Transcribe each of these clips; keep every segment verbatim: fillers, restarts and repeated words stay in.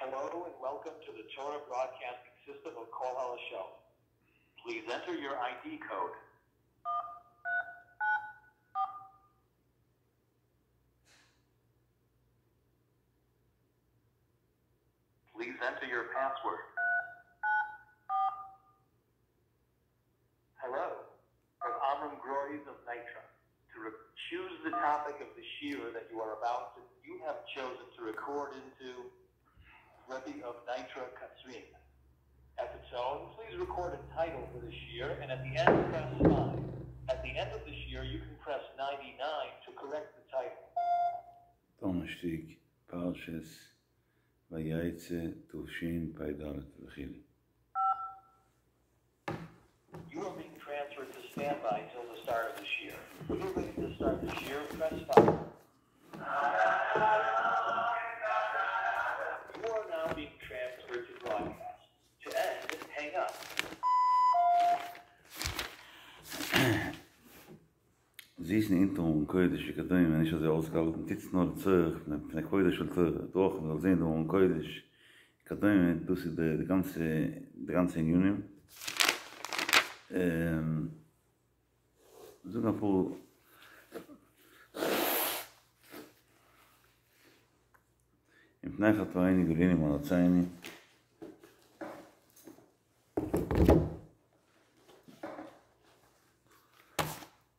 Hello and welcome to the Torah Broadcasting System of Kol HaLashon. Please enter your ID code. Please enter your password. Hello, from Amram Groys of Nitra. To re- choose the topic of the shiur that you are about to, you have chosen to record into Rebbe of Nitra Katzrin. At the tone, please record a title for the shiur, and at the end, press five. At the end of the shiur, you can press ninety-nine to correct the title. Donnerstag, Parshas Vayetze, Tufshin, Peidalet, V'chili. You are being transferred to standby till the start of the shiur. When you're ready to start the shiur, press five. You are now being transferred to broadcast. To end, hang up. זיסן אינטער און קוידיש, wie kadoi, wenn ich so ausgehalten, titz nur zurück, wenn der Koidisch will zurück, doch, man soll sehen, du und Koidisch, kadoi, du sie die, die ganze, die ganze Union. Ähm, sogar vor im Pnei hat war eine Geline, man hat seine.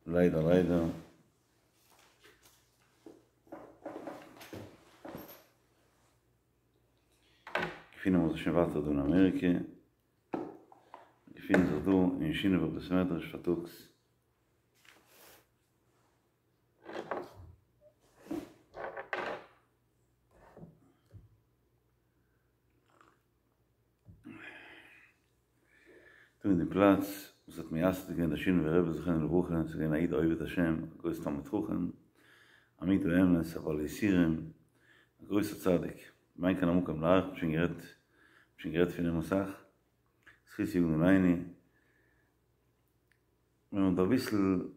Leider, leider. Gefinnen wir sich schon weiter in Amerika. Gefinnen sich du in China, wo das Mädel vertuckt. Du in dem Platz, was hat mir erst gegeben, der Schöne Rebbe sich in der Woche, zu gehen, Aid, Oivet Hashem, größter Talmid Chochem, Amit Oemes, aber Lisirim, größter Zadik. Mein kann am Ukam Lach, schon gerät, schon gerät für den Mosach. Es hieß Jugend Leini. Wenn man da ein bisschen,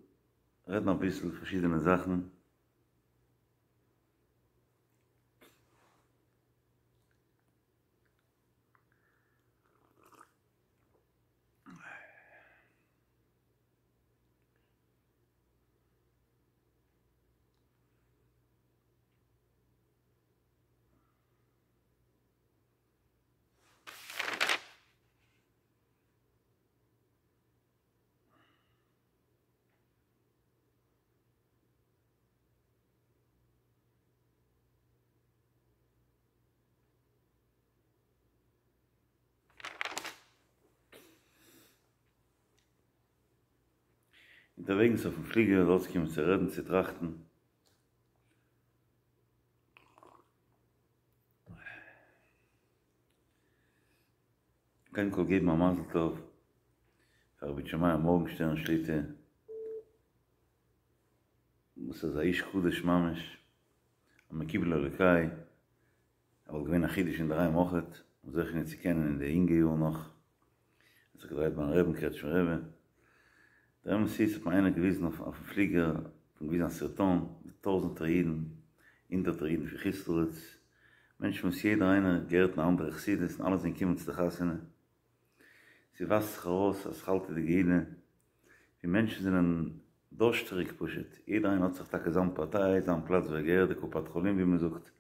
redet noch ein bisschen verschiedene Sachen. Unterwegs auf dem Flieger, rausgekommen zu reden, zu trachten. Kein Kol geben am Mazel Tov. Für Rabbi Shemaya Morgenstern Schlitte. Muss er sein Ish Chudesh Mamesh. Am Mekibel Alekai. Aber gewinn Achidisch in der Reihe Mochet. Und solche nicht zu kennen in der Inge-Jahr noch. Hat sich gedreht beim Reben, kehrt schon Rebe. Der M C ist hat mir einer gewiesen auf, auf dem Flieger, von gewiesen an Sirton, mit tausend Reden, hinter Reden für Christus. Mensch muss jeder einer, gehört eine andere Chassidus, und alle sind gekommen zu der Chassene. Sie wasst sich raus, als halte die Gehine. Die Menschen sind ein Durchstrick, pushet. Jeder einer hat sich da gesamt Partei, seinen Platz, wo er gehört, der Kupat Cholim, wie man sucht.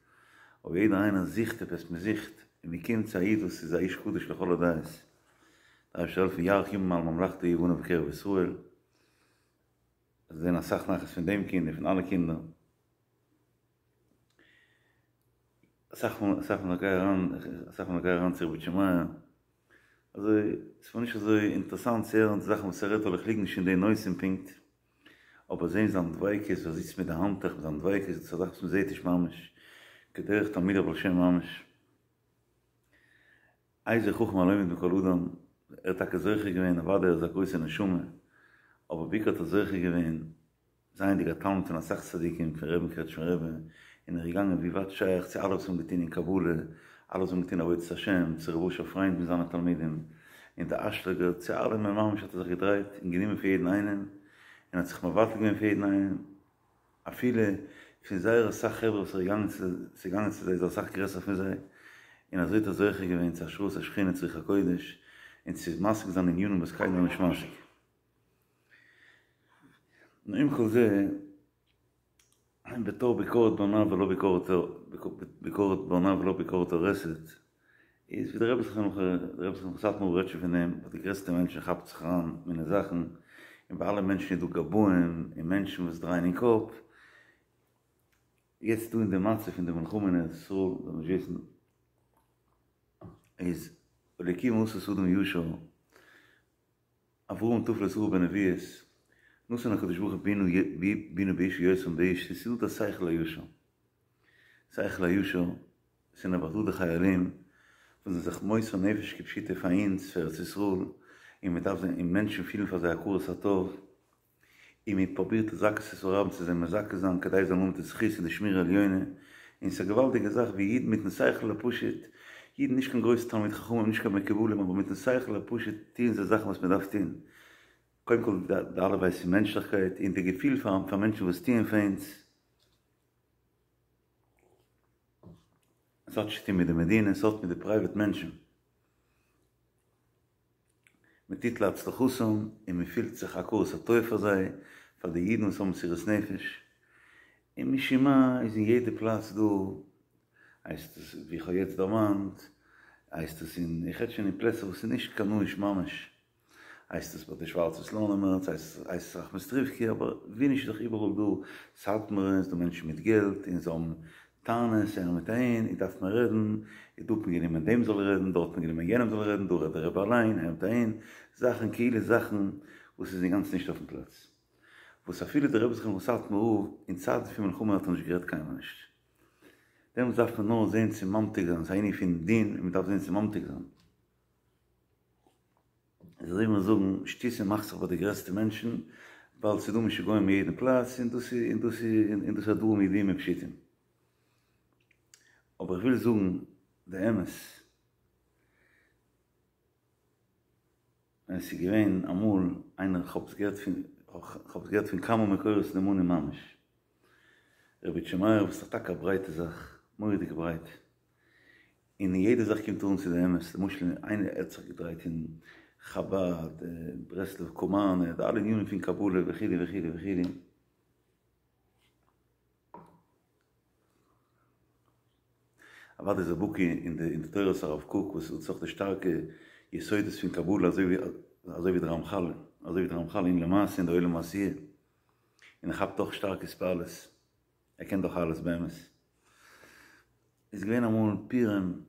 Aber jeder einer sieht etwas, man sieht. Und die Kinder sagen, das ist ein Ish Kudisch, lechol Adais. Da ist der Jahr, ich mal, man lacht, die wohnen auf Israel. Das ist eine Sache nachher von dem Kind, von allen Kindern. Sag mal, sag mal, geh ran, sag mal, geh ran zu Rabbi Shemaya. Also, es war nicht so interessant, sehr, und Sachen, was er redet, weil ich liege nicht in den neuesten Punkt. Aber sehen Sie, am Dweik ist, was sitzt mit der Hand, mit dem Dweik ist, das sagt, man sieht, ich mamisch. Gederch, Tamid, aber schön mamisch. Eise, guck mal, mit dem Koludam, er hat solche gewesen, er war der, er ist eine Schumme. Aber wie hat er solche gewesen, seien die Gattaun von der Sachzadikim, von Reben, Kretsch, von Reben, in der Gegangen, wie wat scheich, sie alles umgetan in Kabul, alles umgetan in Avodah Hashem, zu Rebush auf Freund mit seinen Talmidim, in der Aschlager, zu allem, mein Mama, hat er sich gedreht, in Geniemen für jeden einen, in hat sich mal Warte gegeben für jeden einen, a viele, für seine Sache, was er gegangen ist, sie gegangen ist, sie ist auch Sache größer für sie, און אזוי האט ער זוכה געווען צו השראת השכינה צו רוח הקודש, און צו משיג זיין ענינים וואס קיינער איז נישט משיג. נו עם כל זה, בתור ביקורת בונה ולא ביקורת ביקורת בונה ולא ביקורת הורסת, איז ווי דער רבי זכרונו לברכה, דער רבי זכרונו לברכה סאטמאר רעדט שוין פון דעם, ביי די גרעסטע מענטשן כאפט זיך אריין מיני זאכן, און ביי אלע מענטשן איז דא גבאים און מענטשן וואס דרייען אין קאפ, יעצט דא אין די מצב פון די מלחמה אין ארץ ישראל, זאל מען נישט וויסן, איז אלוקים עשה אדם ישר, אברהם טף לשרה בנביאות, נתן הקדוש ברוך הוא בינה באשה יותר מבאיש, ס'איז דא די שכל הישר, שכל הישר, ס'איז נעבעך דא די חיילים וואס זענען זיך מוסר נפש כפשוטו פאר אונז, פאר ארץ ישראל, און מ'דארף זיי, און מענטשן פילן פאר זיי הכרת הטוב, און מען פרובירט לזכות את הרבים צו זיי מזכה זיין כדי זיי זאלן האבן די זכות אין די שמירה עליונה, און ס'איז א געוואלדיגע זאך ווי אידן מיטן שכל הפשוט, אידן נישט קיין גרויסע תלמידי חכמים נישט קיין מקובלים אבער מיטן שכל הפשוט טוען זיי זאכן וואס מען דארף טון, קודם כל די אלף בית פון מענטשליכקייט און די געפיל פאר פאר מענטשן וואס טוען פאר אונז, עס האט נישט צו טון מיט די מדינה, עס האט מיט די פרייוועט מענטשן. מען טוט להצלחתם און מען פילט זיך הכרת הטוב פאר זיי, פאר די אידן וואס האבן מסירות נפש, און משום מה איז אין יעדע פלאץ דא, הייסט עס ווי איך האב יעצט דערמאנט, הייסט עס אין, איך רעד שוין אין פלעצער וואס איז נישט קנאיש ממש, הייסט עס ביי די שווארצע סלאנימער, הייסט עס ראחמיסטריווקא, אבער ווי נישט איז דאך איבעראל דא סאטמארע, איז דא מענטשן מיט געלט און זיי האבן טענות אהער מיט אהין, און דארף מען רעדן, און דא האט מען גענומען דעם זאל רעדן, דארט האט מען גענומען יענעם זאל רעדן, דא רעדט דער רבי אליין, אהער מיט אהין, זאכן כאילו זאכן וואס איז אינגאנצן נישט אויפן פלאץ. וואס אפילו דער רבי זכרונו לברכה סאטמאר רב אין צייטן פון מלחמה האט ער נישט גערעדט קיינמאל נישט. דעמאלטס דארף מען נאר זען צו ממתיק זיין, ס'איז א ענין פון דין און מען דארף זען צו ממתיק זיין. איז אזוי ווי מיר זאגן, שטותים מאכט זיך ביי די גרעסטע מענטשן, ווייל ס'איז דא משוגעים אין יעדן פלאץ, און דאס איז און דאס איז און דאס איז א דברים ידועים ופשוטים. אבער איך וויל זאגן די אמת, ווען ס'איז געווען אמאל איינער, כ'האב עס געהערט פון, כ'האב עס געהערט פון כמה מקורות נאמנים ממש, רבי איטשע מאיר וואס איז טאקע א ברייטע זאך, מורא'דיג ברייט, און אין יעדע זאך קומט ער אן צו די אמת, למשל איינער ער האט זיך געדרייט אין חבד, ברסלב, קאמארנע, די אלע ענינים פון קבלה וכו' וכו' וכו', אוודאי איז ער בקי אין די אין די תורת הרב קוק וואס איז דאך די שטארקע יסודות פון קבלה אזוי ווי אזוי ווי די רמחל אזוי ווי די רמחל אין למעשה אין די עולם העשיה, און ער כאפט אויך שטארק התפעלות, ער קען דאך אלעס באמת. איז געווען אמאל פורים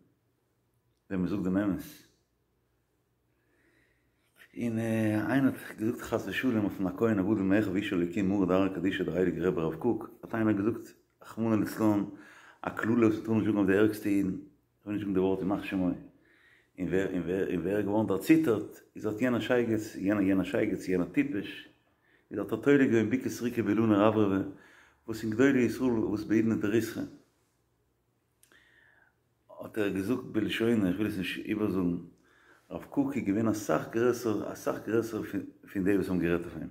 ווען מען זאגט דעם אמת, און איינער האט געזאגט חס ושלום אויפן הכהן הגדול מאחיו איש אלוקים מרא דארעא קדישא דער הייליגער רבי הרב קוק, האט איינער געזאגט רחמנא לצלן א קללה וואס מען טאר נישט זאגן אויף די ערגסטע אידן, איך וויל נישט זאגן די ווארט ימח שמו, און ווער און ווער און ווער איז געווארן דערציטערט, איז האט יענער שייגעץ, יענער יענער שייגעץ, יענער טיפש, איז האט ער תולה געווען בוקה וסריקה באילנא רברבא, וואס אין גדולי ישראל וואס בעידנא דריתחא האט ער געזאגט בלשונו, איך וויל עס נישט איבערזאגן, הרב קוק איז געווען אסאך גרעסער אסאך גרעסער פון די וואס האבן גערעדט אויף אים.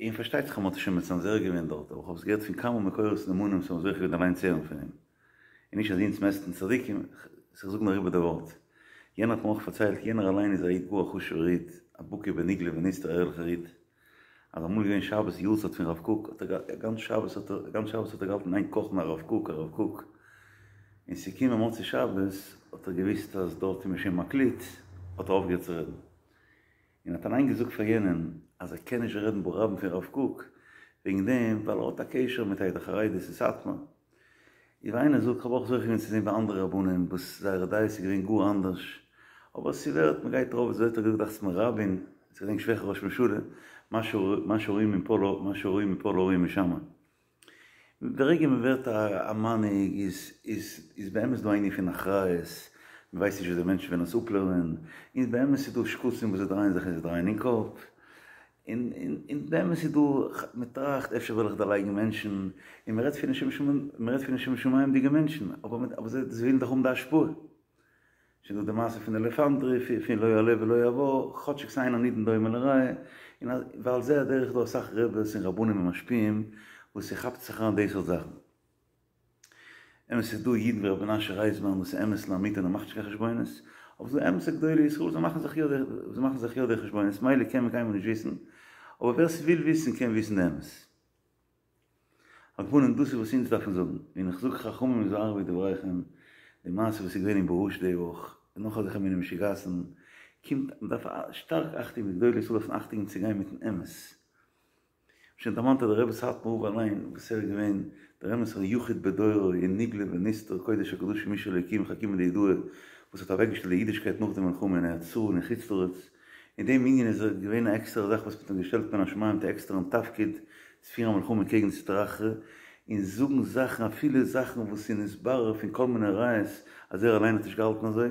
און פארשטייט זיך אז מ'האט עס שוין מצנזר געווען דארט, אבער כ'האב עס געהערט פון כמה מקורות נאמנים וואס האבן זוכה געווען אליין צו הערן פון אים. און נישט אז אונז מעסטן צדיקים, איך זאג נאר איבער די ווארט. יענער האט מיר אויך פארציילט, יענער אליין איז א איד גאר א חשוב'ער איד, א בקי בנגלה ונסתר א ערליכער איד, אז אמאל איז געווען שבת יארצייט פון רב קוק, האט ער גאנץ שבת האט ער גאנץ שבת האט ער געהאלטן איין קאכן הרב קוק הרב קוק, און ס'איז געקומען מוצאי שבת האט ער געוויסט אז דארט איז מען שוין מקליט, האט ער אויפגעהערט צו רעדן. און האט אליין געזאגט פאר יענעם אז ער קען נישט רעדן ברבים פון רב קוק וועגן דעם ווייל ער האט א קשר מיט עדה החרדית אין סאטמאר. און ווי איינער זאגט, כ'האב אויך זוכה געווען צו זען ביי אנדערע רבנים וואס זייערע דעות איז געווען גאר אנדערש, אבער ס'ווערט, מ'גייט ארויף, אזוי האט ער געזאגט דאכט זיך מיר רבין, איך געדענק נישט וועלכע ראש ממשלה, מה שרואים מפה לא, מה שרואים מפה לא רואים משם. ברגע מען ווערט א מנהיג איז איז איז באמת דא א ענין פון אחריות, מען ווייסט נישט ווי די מענטשן וועלן עס אפלערנען, און באמת איז דא שקצים וואס זיי דרייען זיך און זיי דרייען אין קאפ, און און און באמת איז דא, מען טראכט אפשר וועל איך דערלייגן מענטשן, און מען רעדט פון לשם מען רעדט פון לשם שמים'דיגע מענטשן, אבער אבער זיי ווילן דאך האבן די השפעה. שוין דא די מעשה פון אלפנדרי פון לא יעלה ולא יבוא, כאטשיג ס'אין הנידון דומה לרע, און ועל זה הדרך דא אסאך רעבעס און רבנים און משפיעים וואס ס'כאפט זיך אריין די סארט זאכן. אמת ס'איז דא אידן ווי רבי מנשה רייזמאן וואס איז אמת לאמיתו און ער מאכט נישט קיין חשבונות, אבער ס'איז דא אמת'ע גדולי ישראל זיי מאכן זיך יא די זיי מאכן זיך יא די חשבונות, מילא קען מען קיינמאל נישט וויסן, אבער ווער ס'וויל וויסן קען וויסן די אמת. על כל פנים דאס איז וואס אונז דארפן זאגן, און איך זאג חכמים היזהרו בדבריכם, די מעשה וואס איז געווען אין באהוש די וואך, און נאך אזעלכע מיני משוגעת'ן, קומט, מ'דארף שטארק אכטונג, די גדולי ישראל דארפן אכטונג צו גיין מיט'ן אמת. שוין דערמאנט אז דער רבי סאטמאר רב אליין וואס ער איז געווען דער אמת'ער יחיד בדורו אין נגלה ונסתר קודש הקדשים איש אלוקים חכימא דיהודאי וואס האט אוועקגעשטעלט די אידישקייט נאך די מלחמה אין ארץ ישראל און חוץ לארץ אין דעם ענין איז ער געווען א עקסטערע זאך וואס מ'האט אים געשטעלט מן השמים מיט א עקסטערן תפקיד צו פירן א מלחמה קעגן די סטרא אחרא און זאגן זאכן אפילו זאכן וואס איז נתברר פון כל מיני ראיות אז ער אליין האט נישט געהאלטן אזוי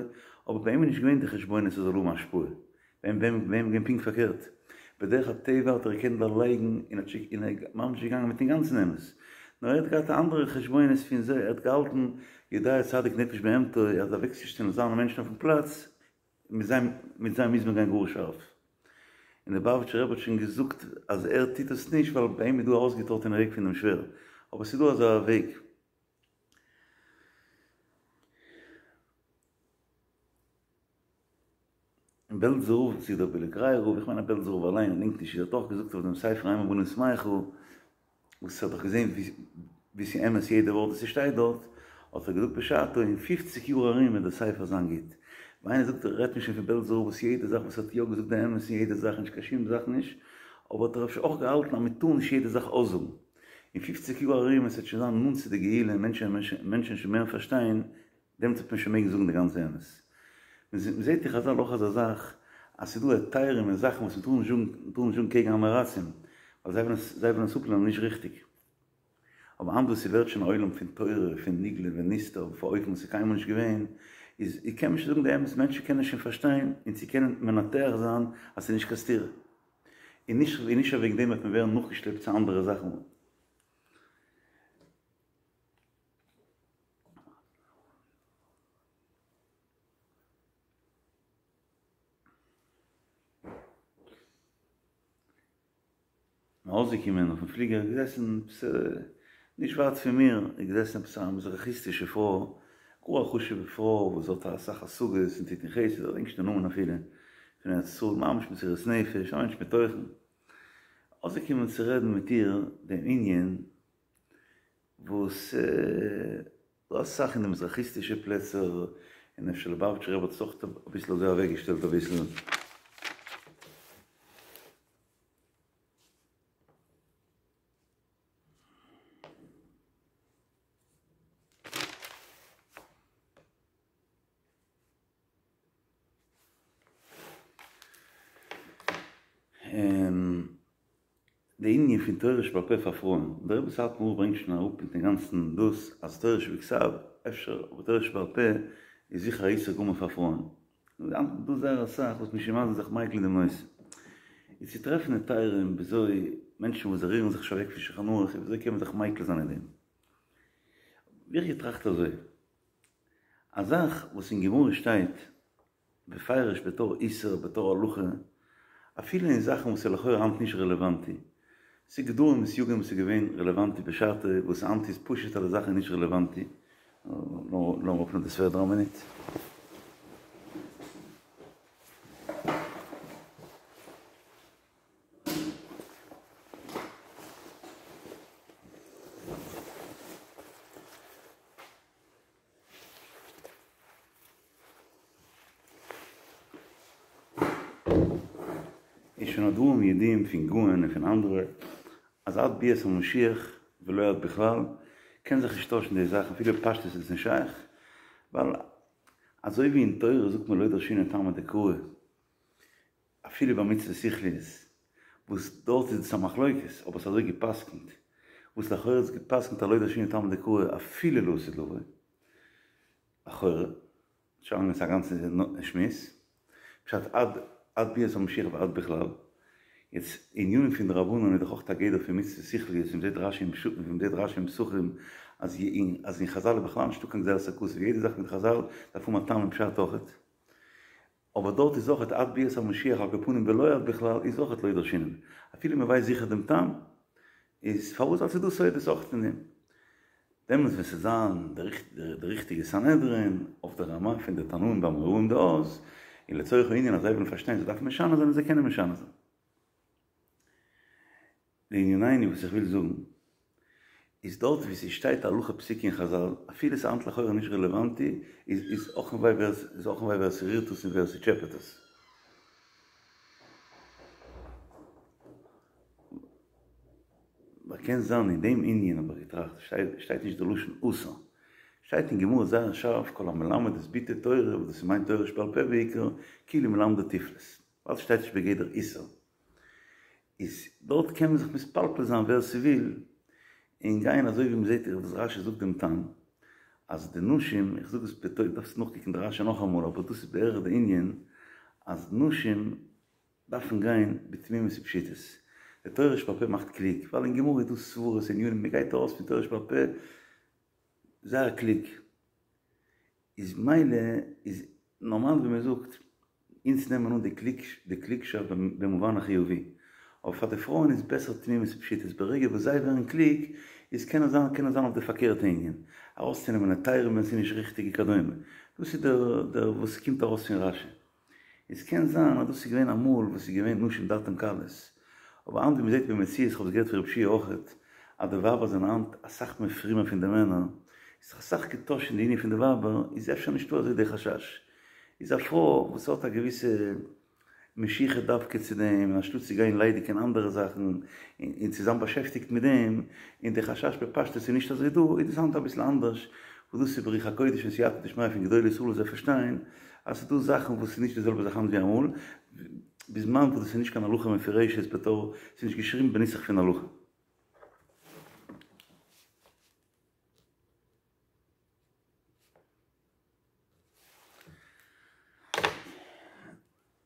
אבער ביי אים איז נישט געווען די חשבונות עס זאל האבן השפעה. ביי אים איז געווען פונקט פארקערט, בדרך הטבע האט ער געקענט דערלייגן און האט און ער איז ממש געגאנגען מיטן גאנצן אמת, נאר ער האט געהאט אנדערע חשבונות פון זיי, ער האט געהאלטן יודע צדיק נפש בהמתו, אז אוועקצושטעלן זיינע מענטשן אויפן פלאץ, מיט זיי מיט זיי מוז מען גיין גאר שארף. און דער ליובאוויטשער רבי האט שוין געזאגט אז ער טוט עס נישט ווייל ביי אים איז דא א אויסגעטראטענע וועג פון דעם שווער, אבער ס'איז דא אזא וועג. און בעלזער רב, צו דער בילגורייער רב, איך מיין אז בעלזער רב אליין, געדענק נישט, ער האט אויך געזאגט אויף דעם ספר אם הבנים שמחה, וואס ער האט דאך געזען ווי ס'איז אמת יעדע ווארט וואס ס'שטייט דארט, האט ער געזאגט בשעתו אין פופציג יאר ארום וועט דער ספר זיין גוט. ווען איינער זאגט רעדט מען שוין פון בעלזער רב וואס יעדע זאך וואס ער האט יא געזאגט די אמת אין יעדע זאך נישט קיין שום זאך נישט, אבער האט ער אפשר אויך געהאלטן אז מ'טאר נישט יעדע זאך אויסזאגן. אין פופציג יאר ארום עס וועט שוין זיין נאנט צו די גאולה און מענטשן שוין מער פארשטיין, דעמאלטס וועט מען שוין מעגן זאגן די גאנצע אמת. מען זעט אין חזל אויך אזא זאך, אז ס'איז דא היתרים און זאכן וואס מען טאר נישט זאגן, מען טאר נישט זאגן קעגן עם הארצים, ווייל זיי וועלן עס, זיי וועלן עס אפלערנען נישט ריכטיג. אבער היינט וואס ס'ווערט שוין א עולם פון תורה, פון נגלה ונסתר, אויף א אופן וואס איז קיינמאל נישט געווען, איז קען מען שוין זאגן די אמת, מענטשן קענען שוין פארשטיין און צו קענען מנתח זיין אז ס'איז נישט קיין סתירה. און נישט, און נישט וועגן דעם וועט מען ווערן נאכגעשלעפט צו אנדערע זאכן. ארויסגעקומען אויפן פליגער איז געזעסן עפעס נישט ווייט פון מיר איז געזעסן עפעס א מזרחי'סטישע פרוי, גאר א חשוב'ע פרוי וואס האט אסאך השגות און טוט אין חסד, איך געדענק נישט די נאמען אפילו, פון ארץ ישראל, ממש מסירות נפש, א מענטש מיט תוכן. אויסגעקומען צו רעדן מיט איר דעם ענין וואס דא אסאך אין די מזרחיסטישע פלעצער, און אפשר ליובאוויטשער רבי האט עס אויך אביסל אזוי אוועקגעשטעלט אביסל. די ענין פון תורה שבעל פה פאר פרויען, דער רבי סאטמאר ברענגט שוין אראפ מיטן גאנצן דאס אז תורה שבכתב אפשר אבער תורה שבעל פה איז זיכער א איסור גמור פאר פרויען, דא זייער אסאך וואס משום מה זענען זיך מיקל אין דעם נושא, איז צו טרעפן היתרים וויאזוי מענטשן וואס זיי רירן זיך נישט אוועק פון שולחן ערוך וויאזוי קען מען זיך מיקל זיין אין דעם, האב איך געטראכט אזוי, א זאך וואס אין גמרא שטייט בפירוש בתור איסור בתור הלכה, אפילו אין זאכן וואס איז לכאורה היינט נישט רעלעוואנטי, ס'איז גדרים און סייגים וואס איז געווען רעלעוואנטי בשעתו, וואס היינט איז פשוט אז די זאך איז נישט רעלעוואנטי, לאמיר אפנעמען דאס פעדער א מינוט. איז שוין הדברים ידועים פון גאון און פון אנדערע אז עד ביאת המשיח ולא עד בכלל קען זיך נישט טוישן די זאך אפילו בפשטות איז עס נישט שייך ווייל אזוי ווי אין תורה זאגט מען לא דרשינן טעמא דקרא אפילו ביי מצוות שכליות וואס דארט איז עס א מחלוקת אבער עס איז אזוי גע'פסק'נט וואס לכאורה איז גע'פסק'נט אז לא דרשינן טעמא דקרא אפילו לעתיד לבוא לכאורה, שוין איז א גאנצע שמועס, פשט עד עד ביאת המשיח ועד בכלל, יעצט ענינים פון דרבנן איז דאך אויך א גדר פון מצוות שכליות ווי מ'זעט רשי ווי מ'זעט רשי אין פסחים אז אז אין חזל איז בכלל נישטא קיין גזירת הכתוב יעדע זאך פון חזל דארף האבן א טעם און פשט אויכעט, אבער דארט איז אויכעט עד ביאת המשיח על כל פנים ולא עד בכלל איז אויכעט לא דרשינן אפילו מ'ווייסט זיכער דעם טעם איז פארוואס ווייל ס'איז דא סודות אויכעט אין דעם. דעמאלטס ווען ס'וועט זיין די ריכטיגע סנהדרין אויף די רמה פון די תנאים ואמוראים דאז, און לצורך הענין אז זיי וועלן פארשטיין זיי דארפן משנה זיין און זיי קענען משנה זיין. לענינינו וואס איך וויל זאגן איז דארט ווי ס'שטייט א הלכה פסוקה אין חזל אפילו ס'איז היינט לכאורה נישט רעלעוואנטי איז איז אך און וויי ווער איז אך און וויי ווער ס'רירט עס און ווער ס'טשעפעט עס. ווייל קען זיין אין דעם ענין האב איך געטראכט שטייט נישט די לשון אסור שטייט אין גמרא זייער שארף כל המלמד את בתו תורה וואס דאס מיינט תורה שבעל פה בעיקר כאילו מלמדה תיפלות ווייל ס'שטייט נישט בגדר איסור איז דארט קען מען זיך מתפלפל זיין ווער ס'וויל און גיין אזוי ווי מ'זעט וואס רשי זאגט דעם טעם אז די נשים, איך זאג עס בטעות, דארפסט נאכקוקן די רשי נאכאמאל, אבער דאס איז בערך די ענין אז נשים דארפן גיין בתמימות ופשיטות, די תורה שבעל פה מאכט קלוג, ווייל אין גמרא איז דא סברות ענינים, מ'גייט ארויס פון תורה שבעל פה זייער קלוג. איז מילא איז נארמאל ווי מען זאגט, אונז נעמען אן די קלוגשאפט במובן החיובי, אבער פאר די פרויען איז בעסער תמימות ופשיטות, ברגע וואס זיי ווערן קלוג איז קען עס זיין קען עס זיין אויף די פארקערטע ענין, ארויסצונעמען היתרים ווען ס'איז נישט ריכטיג וכדומה, דאס איז דער וואס קומט ארויס פון רשי. עס קען זיין אז דאס איז געווען אמאל וואס איז געווען נשים דעתן קלות, אבער היינט ווי מ'זעט במציאות, איך האב עס געהערט פון רב שיע אויכעט, אז די ווייבער זענען היינט אסאך מער פרומער פון די מענער, איז זיך אסאך געטוישט אין די ענין פון די ווייבער, איז אפשר נישטא אזוי די חשש. איז א פרוי וואס האט א געוויסע משיכה דווקא צו דעם, און אנשטאט צו גיין ליידיג אין אנדערע זאכן, און צו זיין באשעפטיגט מיט דעם, און די חשש בפשטות איז נישט אזוי דא, איז דאס היינט אביסל אנדערש, וואס דאס איז ברוח הקודש און סייעתא דשמיא פון גדולי ישראל וואס זיי פארשטיין אז ס'איז דא זאכן וואס איז נישט די זעלבע זאך היינט ווי אמאל, בזמן וואס דאס איז נישט קיין הלכה מפורשת בתור, ס'איז נישט געשריבן בנוסח פון הלכה.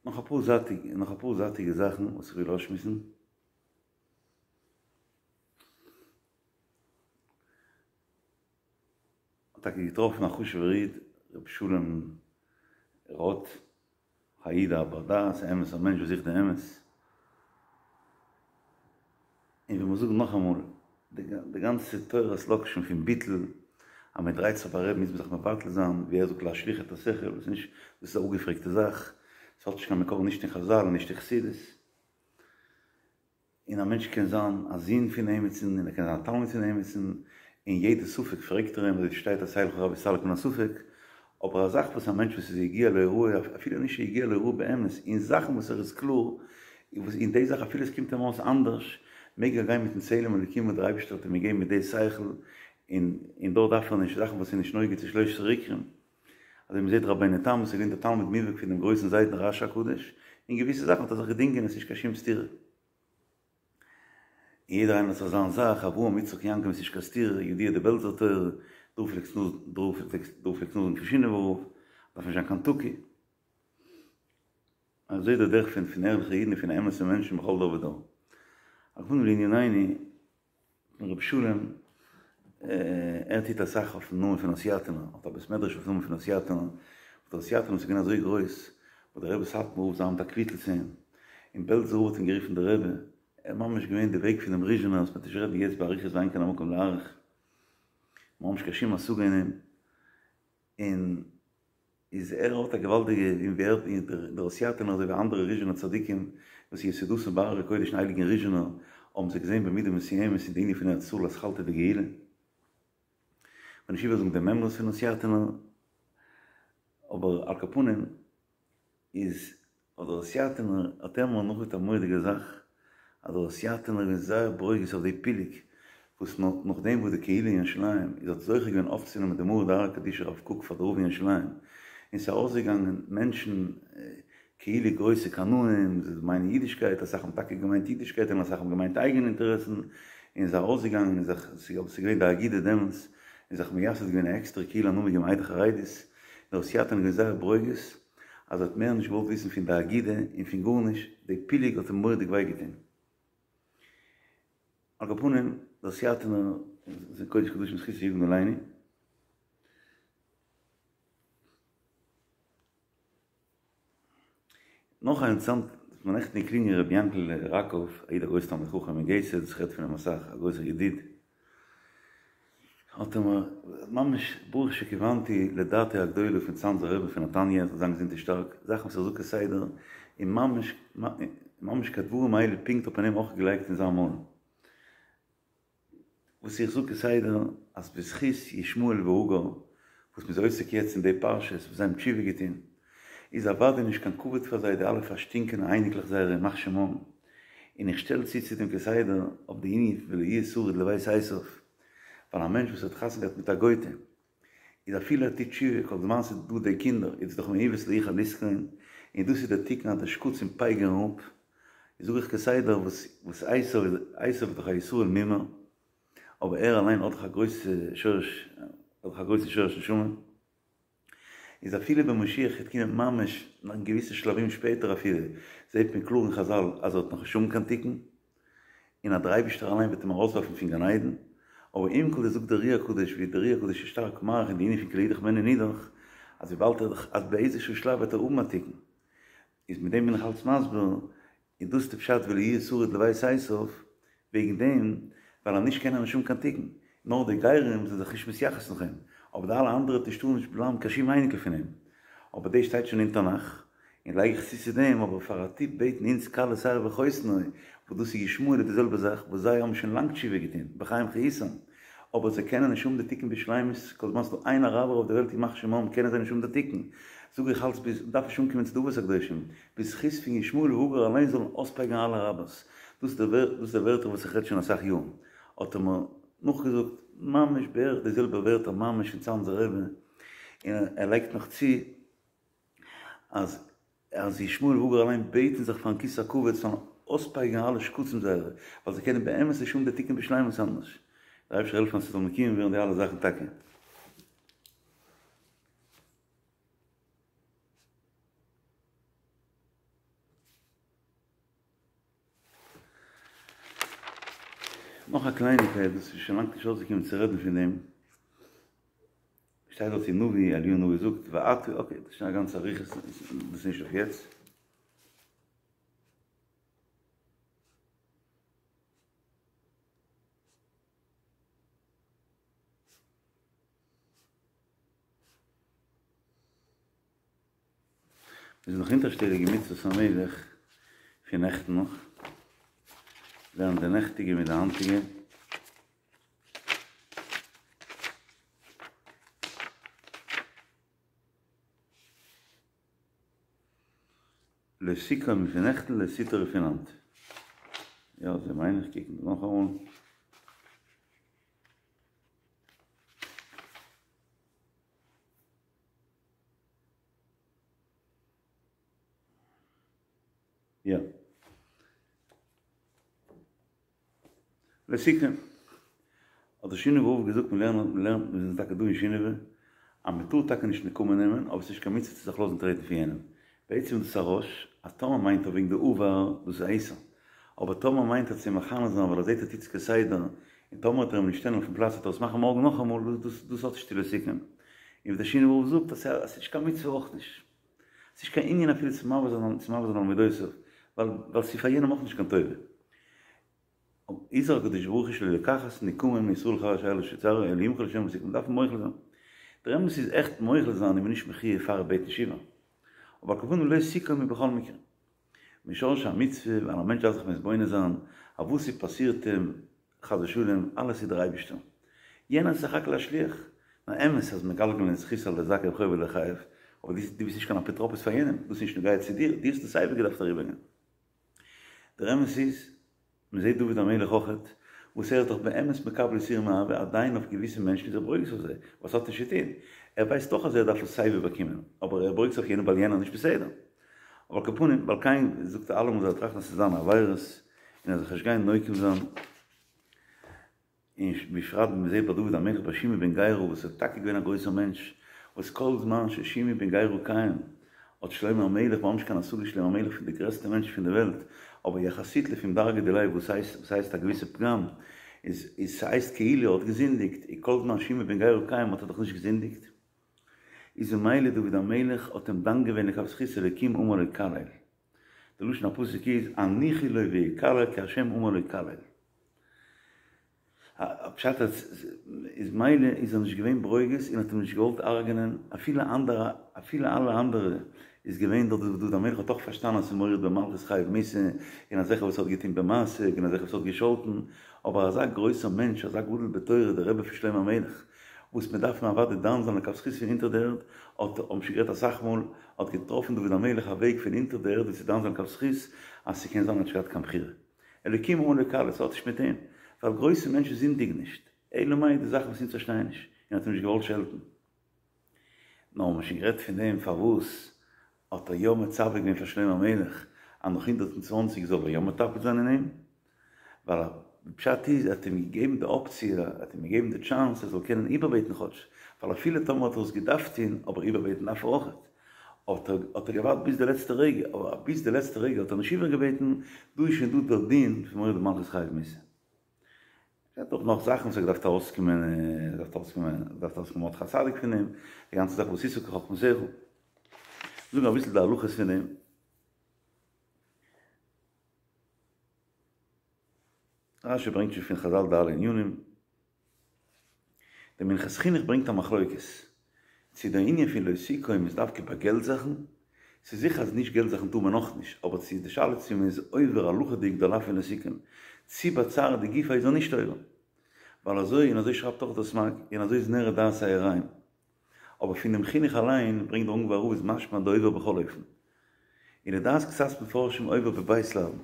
נאך אפאר זייטיגע, נאך אפאר זייטיגע זאכן וואס איך וויל אויסשמועסן. האט טאקע געטראפן א חשוב'ער איד, ר' שלום רוט, א איד א בר דעת, א אמת'ער מענטש וואס זוכט די אמת. און ווי מיר זאגן נאכאמאל, די גאנצע תורת לאקשן פון ביטול, אז מען דרייט זיך ביי רבי'ן מוז מען זיך מבטל זיין, ווי ער זאגט להשליך את השכל, דאס איז נישט, דאס איז א אפגעפרעגטע זאך, עס האט נישט קיין מקור נישט אין חזל און נישט אין חסידות. און א מענטש קען זיין א זון פון עמיצן און ער קען זיין א תלמיד פון עמיצן, און יעדע ספק פרעגט ער אים, אזוי שטייט עשה לך רב וסלק מן הספק, אבער א זאך וואס א מענטש וואס איז הגיע להוראה, אפילו נישט הגיע להוראה באמת, אין זאכן וואס ער איז קלאר, וואס אין די זאך אפילו עס קומט אים אויס אנדערש, מעג ער גיין מיטן צלם אלוקים וואס דער אייבערשטער האט אים געגעבן מיט די שכל, און און דארט דארף ער נישט זאכן וואס איז נישט נוגע צו שלש עשרה עיקרים. אזוי מ'זעט רבינו תם וואס איז געווען דער תלמיד מובהק פון דעם גרויסן זיידן רשי הקדוש, אין געוויסע זאכן האט ער זיך געדינגען עס איז נישט קיין שום סתירה. און יעדער איינער האט זיך זיין זאך, אברהם יצחק יעקב איז נישט קיין סתירה, ידוע די בעלזער תורה, דא פלעגסט דא פלעגסט נאכזאגן פון שינאווער רב, דארף נישט זיין קיין תקי. אזוי איז די דרך פון פון ערליכע אידן און פון אמת'ע מענטשן בכל דור ודור. על כל פנים לענינינו, רבי שלום, ער טוט אסאך אויפן נאמען פון הוסיאטינער, האט א בית מדרש אויפן נאמען פון הוסיאטינער, וואס דער הוסיאטינער איז געווען אזוי גרויס, וואס דער רבי סאטמאר רב זיי האבן א קוויטל צו אים, און בעלזער רב האט אים גערופן דער רבי, ער איז ממש געווען די וועג פונעם ריזשינער, וואס מ'וועט נישט רעדן יעצט באריכות ואין כאן המקום להאריך, מ'האט נישט קיין שום השגה אין אים, און איז ער האט א געוואלדיגע און ווי ער און דער הוסיאטינער אזוי ווי אנדערע ריזשינער צדיקים וואס יסודתם בהר הקודש אין הייליגן ריזשינער האבן זיי געזען במידה מסוימת אין די ענין פון ארץ ישראל אתחלתא דגאולה. כ'וועל נישט איבערזאגן די מימרות פון הוסיאטינער אבער על כל פנים איז האט דער הוסיאטינער האט ער מיר נאכגעזאגט א מורא'דיגע זאך, אז דער הוסיאטינער איז געווען זייער ברוגז אויף די פילוג וואס נאכדעם וואס די קהילה אין ירושלים איז האט זוכה געווען אויפצונעמען די מרא דאתרא קדישא רב קוק פאר די רב אין ירושלים, און ס'איז ארויסגעגאנגען מענטשן כאילו גרויסע קנאים, זיי מיינען אידישקייט, אסאך האבן טאקע געמיינט אידישקייט און אסאך האבן געמיינט אייגענע אינטערעסן, און זיי ארויסגעגאנגען און זיך, ס'איז געווען די אגודה דעמאלטס, און זיך מייסד געווען א עקסטערע קהילה א נאמען געגעבן עדה חרדית, און דער הוסיאטינער איז געווען זייער ברוגז. אז ער האט מער נישט געוואלט וויסן פון די אגודה און פון גארנישט, די פילוג האט אים מורא'דיג וויי געטון. על כל פנים, דער הוסיאטינער איז אין קודש קדשים זכותו יגן עלינו. נאך א אינטערעסאנט, האט מיר נעכטן געקלינגען רבי יענקל ראקוב, א איד א גרויס תלמיד חכם אין גייטסהעד, איך רעד פון אים אסאך, א גרויסער ידיד. האט ער מיר ממש ברוך שכיוונתי לדעתו הגדולה פון צאנזער רבי פון נתניה זאל זיין געזונט און שטארק, זאכן וואס ער זאגט כסדר און ממש ממש כדברים האלה פונקט האט מען אים אויך געלייגט אין זיין מויל. וואס איך זאג כסדר אז בזכות ישמעאל והגר וואס מ'איז עוסק יעצט אין די פרשות וואס זיי האבן תשובה געטון איז אוודאי נישט קיין כבוד פאר זיי די אלע פארשטינקענע אייניקלעך זייערע ימח שמם, און איך שטעל צו צו דעם כסדר אויף די ענין פון ולא יהיה שריד לבית עשיו, ווייל א מענטש וואס האט חתונה געהאט מיט א גויטע איז אפילו ער טוט תשובה כל זמן ס'איז דא די קינדער איז דאך מעוות לא יוכל לתקון, און דאס איז דער תיקון אז די שקצים פייגערן אפ, זאג איך כסדר וואס וואס עשיו איז עשיו איז דאך א ישראל מומר, אבער ער אליין האט דאך א גרויסע שורש האט דאך א גרויסע שורש נשמה, איז אפילו ווען משיח וועט קומען ממש אין געוויסע שלבים שפעטער אפילו, זעט מען קלאר אין חזל אז ער האט נאך נישט האבן קיין תיקון, און אז דער אייבישטער אליין וועט אים ארויסווארפן פון גן עדן, אבער עם כל זה זאגט דער אר"י הקדוש ווי דער אר"י הקדוש איז שטארק מאריך אין די ענין פון כי לאידך בעינן נידח, אז וויבאלד ער אז באיזשהו שלב וועט ער האבן א תיקון, איז מיט דעם בין איך אלץ מסביר, איז דאס די פשט ולא יהיה שריד לבית עשיו, וועגן דעם ווייל אז נישט קען ער נישט האבן קיין תיקון, נאר די גרים זענען זיך נישט מתייחס נאך אים, אבער די אלע אנדערע טאר נישט בלייבן קיין שום אייניקל פון אים, אבער דאס שטייט שוין אין תנך, און לייג איך צו צו דעם, אבער פאר א טיפ בעטן אונז כלה שערה וחותנו, וואס דאס איז ישמעאל איז די זעלבע זאך, וואס זיי האבן שוין לאנג תשובה געטון, בחיים חיותם, אבער זיי קענען נישט האבן די תיקון בשלימות, כל זמן ס'דא איין אראבער אויף די וועלט ימח שמם קענען זיי נישט האבן די תיקון, זאג איך אלץ ביז, מ'דארף נישט אנקומען צו די אבות הקדושים, בזכות פון ישמעאל והגר אליין זאלן אויספייגערן אלע אראבערס, דאס איז די ווערטער וואס איך רעד שוין אסאך יארן, האט ער מיר נאכגעזאגט ממש בערך די זעלבע ווערטער ממש פון צאנזער רבי, און ער לייגט נאך צו אז אז ישמעאל והגר אליין בעטן זיך פארן כסא הכבוד זאלן אויספייגערן אלע שקצים זייערע, ווייל זיי קענען באמת נישט האבן די תיקון בשלימות אנדערש. דער אייבערשטער זאל העלפן אז ס'זאל מקוים ווערן די אלע זאכן טאקע. נאך א קלייניקייט וואס איז שוין לאנג נישט אויסגעקומען צו רעדן פון דעם, שטייט דארט אין נביא, אליהו הנביא זאגט ואתה, אקעי דאס איז שוין א גאנצע אריכות, דאס איז נישט אויף יעצט. מיר זענען נאך אונטערשטעליג אין מצוות המלך פון נעכטן נאך, לערנען די נעכטיגע מיט די היינטיגע. לא תקום פון נעכטן לא תטור פון היינט. יא אזוי מיין איך, קוקן מיר נאכאמאל. יא. לסיכום, האט דער שינאווער רב געזאגט מיר לערנען, מיר לערנען, מיר זענען טאקע דא אין שינאווע, אז מען טאר טאקע נישט נקמה נעמען, אבער ס'איז נישט קיין מצוה צו זיך לאזן טרעטן פון יענעם. בעצם איז דאס א ראש, אז טאמער מיינט ער וועגן די עבר, דאס איז א איסור. אבער טאמער מיינט ער צו מכנה זיין ווייל ער זעט ער טוט עס כסדר, און טאמער וועט ער אים נישט שטעלן אויפן פלאץ וועט ער עס מאכן מארגן נאכאמאל, דאס דאס האט נישט צו לסיכום. און ווי דער שינאווער רב זאגט אז ס'איז נישט קיין מצוה אויך נישט. ס'איז נישט קיין ענין אפילו צו מעביר זיין צו מעביר זיין על מידותיו, ווייל ווייל ס'איז פאר יענעם אויך נישט קיין טובה. הזהיר הקדוש ברוך הוא שלא לקחת נקמה מישראל חבר אשר לא שצריך אלא ימחול לשם ולא מ'דארף מוחל זיין. דער אמת איז עכט מוחל זיין איז מען נישט מחויב פאר ער בעט תשובה. אבער על כל פנים לא תקום איז בכל מקרה. משורש המצוה ווייל א מענטש דארף זיך מתבונן זיין אז וואס ס'פאסירט אים חס ושלום אלעס איז דער אייבישטער. יענער איז סך הכל א שליח. נאר אמת אז מגלגלין זכות על ידי זכאי וחובה לחייב, אבער דו ביסט נישט קיין אפוטרופוס פאר יענעם, דאס איז נישט נוגע צו דיר, דו האסט עס סייווי געדארפט אריבערגיין. דער אמת איז, מען זעט דוד המלך אויכעט, וואס ער איז דאך באמת מקבל יסורים מאהבה, עדיין אויף געוויסע מענטשן איז ער ברוגז אויף זיי, וואס האט נישט צו טון, ער ווייסט דאך אז ער דארף עס סייווי באקומען, אבער ער ברוגז אויף יענעם ווייל יענער איז נישט בסדר. אבער על כל פנים, ועל כן זאגט ער אלעמאל זאל ער טראכטן אז ס'איז זיינע עבירות, און ער זאל זיך נישט גיין נוקם זיין. און בפרט ווען מ'זעט ביי דוד המלך ביי שמעי בן גרא וואס איז טאקע געווען א גרויסער מענטש, וואס כל זמן ששמעי בן גרא קיים האט שלמה המלך ממש קיין השגה שלמה המלך פון די גרעסטע מענטשן פון די וועלט, אבער יחסית לפום דרגא דיליה וואס הייסט וואס הייסט א געוויסע פגם איז איז ס'הייסט כאילו ער האט געזינדיגט, און כל זמן שמעי בן גרא קיים האט ער דאך נישט געזינדיגט, איז ממילא דוד המלך האט אים דן געווען לכף זכות אלוקים אמר לו קלל, די לשון הפסוק איז הניחו לו ויקלל כי ה' אמר לו קלל. פשט אז איז מילא איז ער נישט געווען ברוגז און האט אים נישט געוואלט הרג'נען, אפילו אנדערע, אפילו אלע אנדערע איז געווען דארט דוד המלך האט אויך פארשטאנען אז ס'איז מורד במלכות חייב מיתה, און אזעלכע וואס האט געטון במעשה, און אזעלכע וואס האט געשאלטן, אבער אזא גרויסער מענטש, אזא גדול בתורה, דער רבי פון שלמה המלך, וואס מען דארף אים אוודאי דן זיין לכף זכות פון אונטער די ערד, האט, האבן שוין גערעדט אסאך מאל, האט געטראפן דוד המלך א וועג פון אונטער די ערד ווי צו דן זיין לכף זכות, אז ס'קען זיין ער האט נישט געהאט קיין בחירה. אלוקים אן לקהל, עס האט נישט מיט אים, ווייל גרויסע מענטשן זינדיגן נישט, אלא מאי די זאכן וואס אונז פארשטייען נישט, און האט אים נישט געוואלט שעלטן. נאר האבן מיר שוין גערעדט פון דעם פארוואס האט ער יא מצווה געווען פאר שלמה המלך אז נאך הונדערט און צוואנציג זאל ער יא מטפל זיין אין אים, ווייל די פשט איז ער האט אים געגעבן די אפציע, ער האט אים געגעבן די טשאנס ער זאל קענען איבערבעטן כאטש, ווייל אפילו טאמער האט ער עס געדארפט טון, אבער איבערבעטן דארף ער אויכעט, האט ער האט ער געווארט ביז די לעצטע רגע, אבער ביז די לעצטע רגע האט ער נישט איבערגעבעטן, דא איז שוין דא דער דין פון מורד במלכות חייב מיתה. ער האט דאך נאך זאכן וואס ער געדארפט ארויסקומען, ער געדארפט ארויסקומען, ער געדארפט ארויסקומען מרדכי הצדיק פון אים, די גאנצע זאך ועשית כחכמתך. זאגן אביסל די הלכות פון דעם. רשי ברענגט שוין פון חזל די אלע ענינים. דער מנחת חינוך ברענגט א מחלוקת, צו דער ענין פון לא תקום איז דווקא ביי געלט זאכן, ס'איז זיכער אז נישט געלט זאכן טאר מען נאך נישט, אבער צו די שאלה צו מען איז עובר הלכה'דיג די לאו פון לא תקום, צו ביי צערא דגופיה איז ער נישט עובר, ווייל אזוי און אזוי שרייבט אויך דער סמ"ג, און אזוי איז נראה דעת היראים. אבער פונעם חינוך אליין ברענגט דער אונגוואר רב איז משמע דעובר בכל אופן. און לדעת קצת מפרשים עובר בב' לאוין.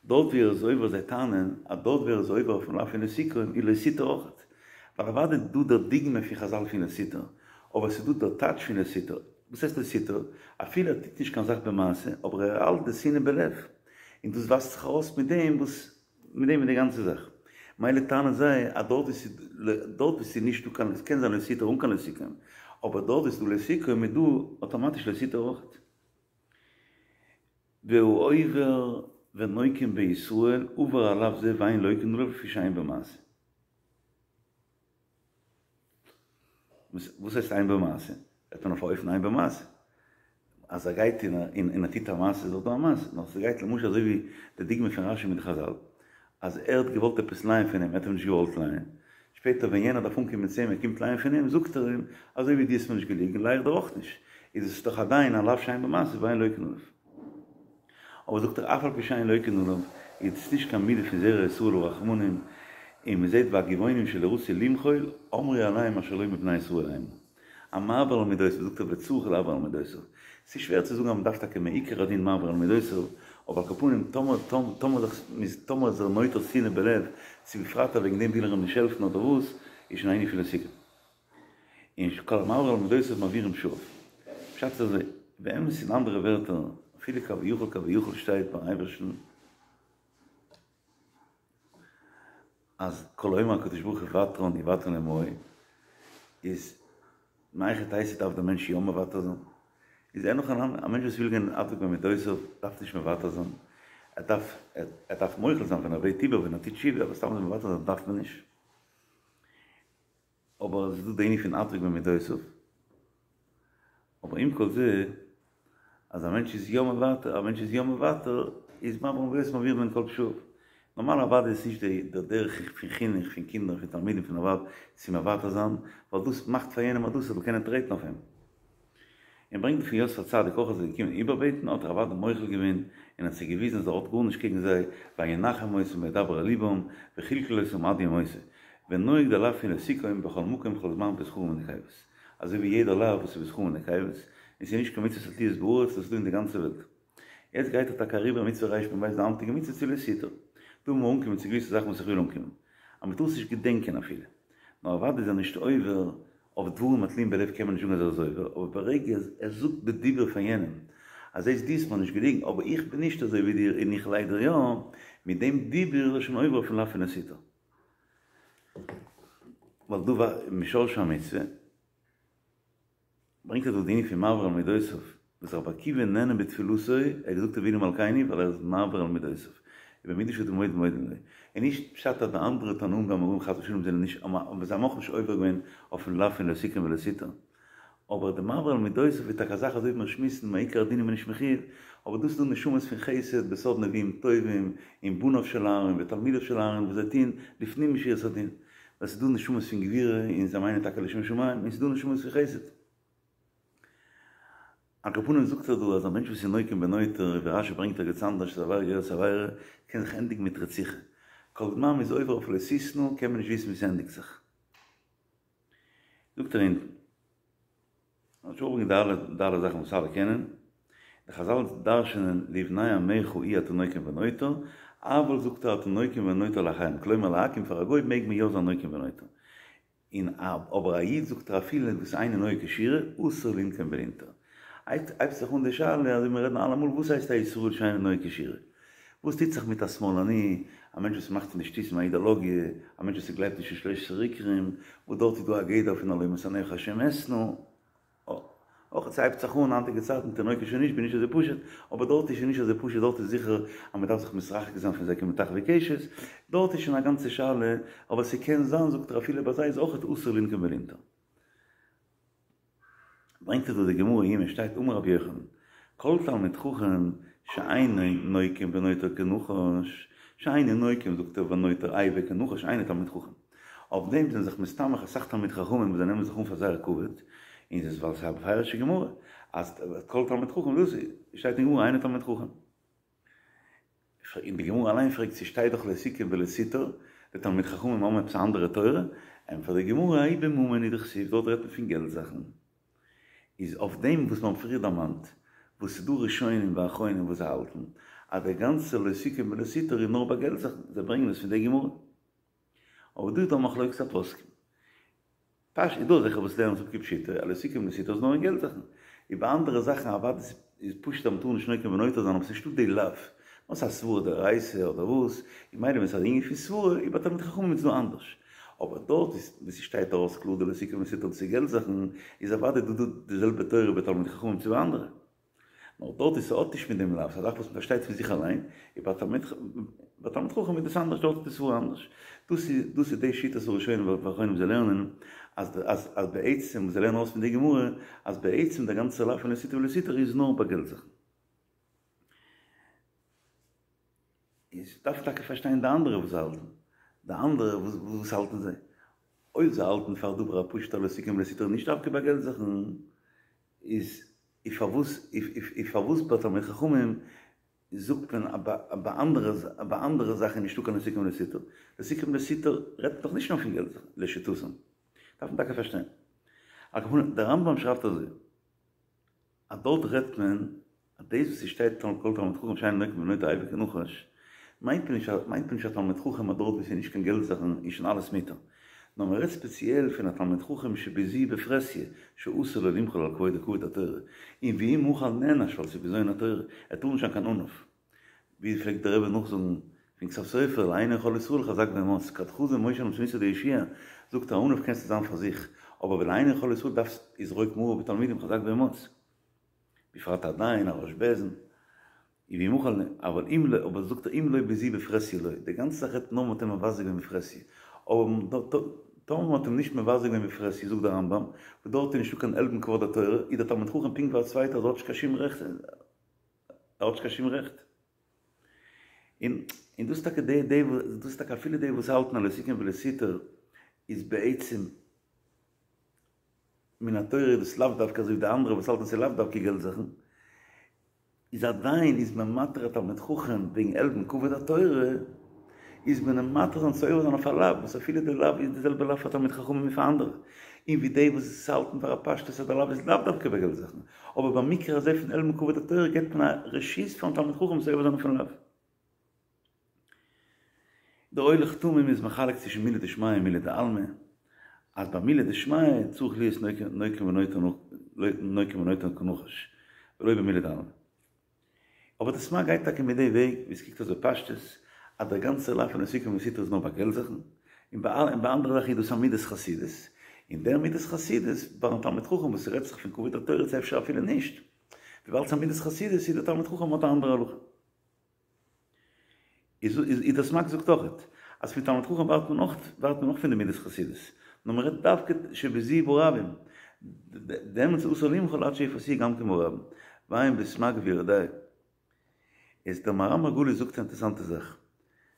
דארט ווי ער איז עובר זיי טענה'ן אז דארט ווי ער איז עובר אויפן לאו פון לא תקום איז לא תטור אויכעט. ווייל אוודאי איז דא דער דוגמא פון חזל פון לא תטור, אבער עס איז דא דער טייטש פון לא תטור. וואס הייסט לא תטור? אפילו ער טוט נישט קיין זאך במעשה, אבער ער האלט די שנאה בלב. און דאס ווייזט זיך ארויס מיט דעם וואס מיט דעם איז די גאנצע זאך. מילא טענה'ן זיי אז דארט ווי ס'איז דארט ווי ס'איז נישטא קיין עס קען זיין לא תטור אן קיין לא תקום, אבער דארט ווי ס'איז דא לא תקום איז דא אטאמאטיש לא תטור אויכעט. והעובר ונוקם בישראל עובר על לאו זה ואין לוקין עליו לפי שאין בו מעשה. וואס הייסט אין בו מעשה? רעדט מען אויף א אופן אין בו מעשה. אז ער גייט און און ער טוט א מעשה איז דאך דא א מעשה. נאר ס'גייט למשל אזוי ווי די דוגמא פון רשי מיט די חזל, אז ער האט געוואלט עפעס לייען פון אים, ער האט אים נישט געוואלט לייען. שפעטער ווען יענער דארף אנקומען צו אים, ער קומט לייען פון אים, זאגט ער אים, אזוי ווי דו האסט מיר נישט געליגן, ליי איך דיר אויך נישט. איז עס דאך עדיין א לאו שאין בו מעשה ואין לוקין עליו. אבער זאגט ער אף על פי שאין לוקין עליו, איז עס נישט קיין מידה פון זרע ישראל הרחמנים, און מען זעט והגבעונים שלא רצו למחול, אמרו עליהם אשר לא מבני ישראל המה. המעביר על מידותיו, זאגט ער וצריך לעבור על מידותיו. ס'איז שווער צו זאגן אז מען דארף טאקע מעיקר הדין מעביר על מידותיו, אבער על כל פנים טאמער טאמער טאמער איז ער נוטר שנאה בלב, צו בפרט אז וועגן דעם וויל ער אים נישט העלפן אדער וואס, איז שוין א ענין פון לא תקום. און כל המעביר על מידותיו מעבירים פשעיו. פשט איז אזוי, באמת אין אנדערע ווערטער, אפילו כביכול כביכול שטייט ביים אייבערשטן אז כל האומר הקדוש ברוך הוא ותרן יוותרן עמו, איז מהיכי תיתי דארף דער מענטש יא מוותר זיין? איז אין הכי נמי, א מענטש וואס וויל גיין אדוק במידותיו דארף נישט מוותר זיין, ער דארף ער דארף מוחל זיין ווען ער בעט איבער ווען ער טוט תשובה, אבער סתם אזוי מוותר זיין דארף מען נישט. אבער עס איז דא די ענין פון אדוק במידותיו, אבער עם כל זה, אז א מענטש איז יא מוותר, א מענטש איז יא מוותר, איז מעביר על מידותיו מעבירין כל פשעיו. נארמאל אוודאי איז נישט די דרך פון חינוך פון קינדער פון תלמידים פון א ווייב צו מוותר זיין, ווייל דאס מאכט פאר יענעם אז דאס ער זאל קענען טרעטן אויף אים. און ברענגט פון יוסף הצדיק אויך אז ער איז געקומען איבערבעטן האט ער אוודאי מוחל געווען און האט זיי געוויזן אז ער האט גארנישט קעגן זיי וינחם אותם וידבר אל לבם וכלכל אותם עד יום מותו ונוהג די לאו פון לא תקום בכל מקום ובכל זמן בזכרים ונקבות אזוי ווי יעדער לאו וואס איז בזכרים ונקבות און ס'איז נישט קיין מצוות התלויות בארץ דאס איז דא אין די גאנצע וועלט. יעצט גייט ער טאקע אריבער מצוה רמ"ב די היינטיגע מצוה צו לא תטור. דא מוז מען אנקומען צו געוויסע זאכן וואס איך וויל אנקומען. אז מ'טאר עס נישט געדענקען אפילו. נאר אוודאי איז ער נישט עובר אויף דברים התלויים בלב קען מען נישט זאגן אז ער איז עובר, אבער ברגע ער זאגט בדיבור פאר יענעם אז זעסט דו האסט מיר נישט געליגן אבער איך בין נישט אזוי ווי דיר און איך ליי דיר יא, מיט דעם דיבור איז ער שוין עובר אויפן לאו פון לא תטור. ווייל דא משורש המצוה ברענגט ער דא די ענין פון מעביר על מידותיו, וואס רבי עקיבא נענה בתפילתו, ער האט געזאגט אבינו מלכינו ווייל ער איז מעביר על מידותיו, ובמידה שאדם מודד מודדין לו, און נישט פשט אז די אנדערע תנאים ואמוראים חס ושלום זענען נישט, אבער זיי האבן אויך נישט עובר געווען אויפן לאו פון לא תקום ולא תטור, אבער די מעביר על מידותיו איז טאקע א זאך אזוי ווי מיר שמועסן מעיקר הדין איז מען נישט מחיוב, אבער דאס איז דא נשמות פון חסד בסוד נביאים טובים און בניו של אהרן ותלמידיו של אהרן וואס זיי טוהן לפנים משורת הדין, ווייל ס'איז דא נשמות פון גבורה און זיי מיינען טאקע לשם שמים, און ס'איז דא נשמות פון חסד. על כל פנים זאגט ער דא אז א מענטש וואס איז נוקם ונוטר, ווי רשי ברענגט ערגעץ אנדערש איז עבירה גוררת עבירה, קען זיך ענדיגן מיט רציחה. כל זמן מ'איז עובר אויף לא תשנא קען מען נישט וויסן ווי ס'ענדיגט זיך. זאגט ער אונטן. האט שוין אויפגעברענגט די אלע די אלע זאכן וואס אלע קענען. די חזל דרש'נען לבני עמך אי אתה נוקם ונוטר, אבל זאגט ער אתה נוקם ונוטר לאחרים, כלומר לעכו"ם פאר א גוי מעג מען יא זיין נוקם ונוטר. און אבער א איד זאגט ער אפילו וואס אינו נוהג כשורה אסור לנקום ולנטור. הייבט זיך אן די שאלה אזוי מיר רעדן אלעמאל וואס הייסט א ישראל שאינו נוהג כשורה? וואס טוט זיך מיט א שמאלני, א מענטש וואס מאכט פון די שטותים א אידאלאגיע, א מענטש וואס גלייבט נישט אין שלש עשרה עיקרים, וואס דארט איז דא א גדר פון הלא משנאיך השם אשנא, אויך ס'הייבט זיך אן היינטיגע צייטן תינוקות של נשבי נישט אזוי פשוט, אבער דארט איז שוין נישט אזוי פשוט, דארט איז זיכער אז מ'דארף זיך מתרחק זיין פון זיי כמטחווי קשת, דארט איז שוין א גאנצע שאלה, אבער ס'קען זיין זאגט ער אפילו ביי זיי איז אויכעט אסור לנקום ולנטור. ברענגט ער דא די גמרא אין יומא שטייט אמר רבי יוחנן כל תלמיד חכם שאינו נוקם ונוטר כנחש, שאינו נוקם זאגט ער ונוטר אייבה כנחש אינו תלמיד חכם. אויף דעם זענען זיך מסתמך אסאך תלמידי חכמים וואס זיי נעמען זיך אן פאר זייער כבוד, און ס'איז ווייל ס'איז א בפירוש'ע גמרא אז כל תלמיד חכם דאס שטייט אין גמרא אינו תלמיד חכם. און די גמרא אליין פרעגט ס'שטייט דאך לא תקום ולא תטור, די תלמידי חכמים האבן עפעס א אנדערע תורה? ענטפערט די גמרא ההוא בממון הוא דכתיב דארט רעדט מען פון געלט זאכן. איז אויף דעם וואס מ'האט פריער דערמאנט, וואס ס'איז דא ראשונים ואחרונים וואס זיי האלטן אז דער גאנצער לא תקום ולא תטור איז נאר ביי געלט זאכן, זיי ברענגען עס פון די גמרא. אבער דא איז דא א מחלוקת הפוסקים. פשט איז דא אזעלכע וואס לערנען עס אפ כפשוטו, אז לא תקום ולא תטור איז נאר אין געלט זאכן. און ביי אנדערע זאכן אוודאי איז פשוט אז מ'טאר נישט נוקם ונוטר זיין אבער ס'איז נישטא די לאו. נאר ס'איז א סברא דאורייתא אדער וואס, און מילא ווען ס'איז א ענין פון סברא איז ביי תלמיד חכמים איז דא אנדערש. אבער דארט וואו ס'שטייט ארויס קלאר די לא תקום ולא תטור צו געלט זאכן, איז אוודאי דא דא די זעלבע תורה ביי תלמידי חכמים צו ביי אנדערע. נאר דארט איז ס'האט נישט מיט דעם לאו, ס'איז א זאך וואס מ'פארשטייט פון זיך אליין, און ביי תלמיד ביי תלמיד חכם איז דאס אנדערש, דארט איז די סברא אנדערש. דאס איז דאס איז די שיטת הראשונים והאחרונים זיי לערנען אז אז אז בעצם וואס זיי לערנען ארויס פון די גמרא אז בעצם דער גאנצער לאו פון לא תקום ולא תטור איז נאר ביי געלט זאכן. איז דארף טאקע פארשטיין די אנדערע וואס זיי האלטן, די אנדערע וואס האלטן זיי? אויב זיי האלטן פאר דבר הפשוט אז לא תקום ולא תטור נישט דווקא ביי געלט זאכן, איז פארוואס איז פארוואס ביי תלמיד חכמים זאגט מען אז ביי אנדערע ביי אנדערע זאכן איז נישטא קיין לא תקום ולא תטור? לא תקום ולא תטור רעדט דאך נישט נאר פון געלט זאכן, לשיטתם. דארף מען טאקע פארשטיין. על כל פנים, דער רמב"ם שרייבט אזוי. אז דארט רעדט מען אז דאס וואס ס'שטייט כל תלמיד חכם שאינו נוקם ונוטר איבה כנחש, מיינט מען נישט מיינט מען נישט א תלמיד חכם אז דארט וואו ס'איז נישט קיין געלט זאכן איז שוין אלעס מותר, נאר מען רעדט ספעציעל פון א תלמיד חכם שביזוי בפרהסיא שאסור לו למחול על כבודו כבוד התורה, און ואם מחל נענש ווייל ס'איז בזיון התורה, ער טאר נישט זיין קיין עניו. ווי פלעגט דער רבי נאכזאגן פון כתב סופר לעיני כל ישראל חזק ואמץ, כד חזא משה למתניתא דיהושע, זאגט ער עניו קענסטו זיין פאר זיך, אבער ולעיני כל ישראל דארפסט יזרוק מרה בתלמידים חזק ואמץ, בפרט א דיין א ראש בית דין, ואם מחל, אבל אם לא, אבער זאגט ער אם לא ביזוי בפרהסיא לא, די גאנצע זאך רעדט נאר מ'האט אים מבזה געווען בפרהסיא, אבער טאמער מ'האט אים נישט מבזה געווען בפרהסיא זאגט דער רמב"ם, וואס דארט איז נישטא קיין עלבון כבוד התורה, איז דער תלמיד חכם פונקט ווי א צווייטער אז ער האט נישט קיין שום רעכט, ער האט נישט קיין שום רעכט. און און דאס טאקע די די דאס טאקע אפילו די וואס האלטן אז לא תקום ולא תטור איז בעצם מן התורה איז דאס לאו דווקא אזוי ווי די אנדערע וואס האלטן ס'איז לאו דווקא געלט זאכן, איז עדיין איז מען מתיר א תלמיד חכם וועגן עלבון כבוד התורה, איז מען אים מתיר זיין צו עובר זיין אויף א לאו, וואס אפילו די לאו איז די זעלבע לאו פאר תלמיד חכמים ווי פאר אנדערע, און ווי די וואס האלטן פאר א פשטות אז די לאו איז לאו דווקא ביי געלט זאכן, אבער במקרה הזה פון עלבון כבוד התורה געבט מען א רשות פארן תלמיד חכם צו עובר זיין אויפן לאו. דער הולך תמים איז מחלק צווישן מילי דשמיא און מילי דעלמא, אז ביי מילי דשמיא צריך להיות נוקם ונוטר נוקם כנחש, ולא במילי דעלמא. אבער די סמ"ג גייט טאקע מיט די וועג ווי עס קוקט אויס בפשטות אז דער גאנצער לאו פון לא תקום ולא תטור איז נאר ביי געלט זאכן, און ביי אנדערע זאכן איז דאס א מידת חסידות, און דער מידת חסידות ביים תלמיד חכם וואס ס'רעדט זיך פון כבוד התורה צו אפשר אפילו נישט, וויבאלד ס'איז א מידת חסידות איז דער תלמיד חכם האט א אנדערע הלכה. איז איז דער סמ"ג זאגט אויכעט אז פון תלמיד חכם ווארט מען אויך ווארט מען אויך פון די מידת חסידות, נאר מען רעדט דווקא שביזוי ברבים, דעמאלטס אסור למחול עד שיפסיע גם כן ברבים. ועיין בסמ"ג ביורה דעה. איז דער מהר"ם מרגליות זאגט א אינטערעסאנטע זאך.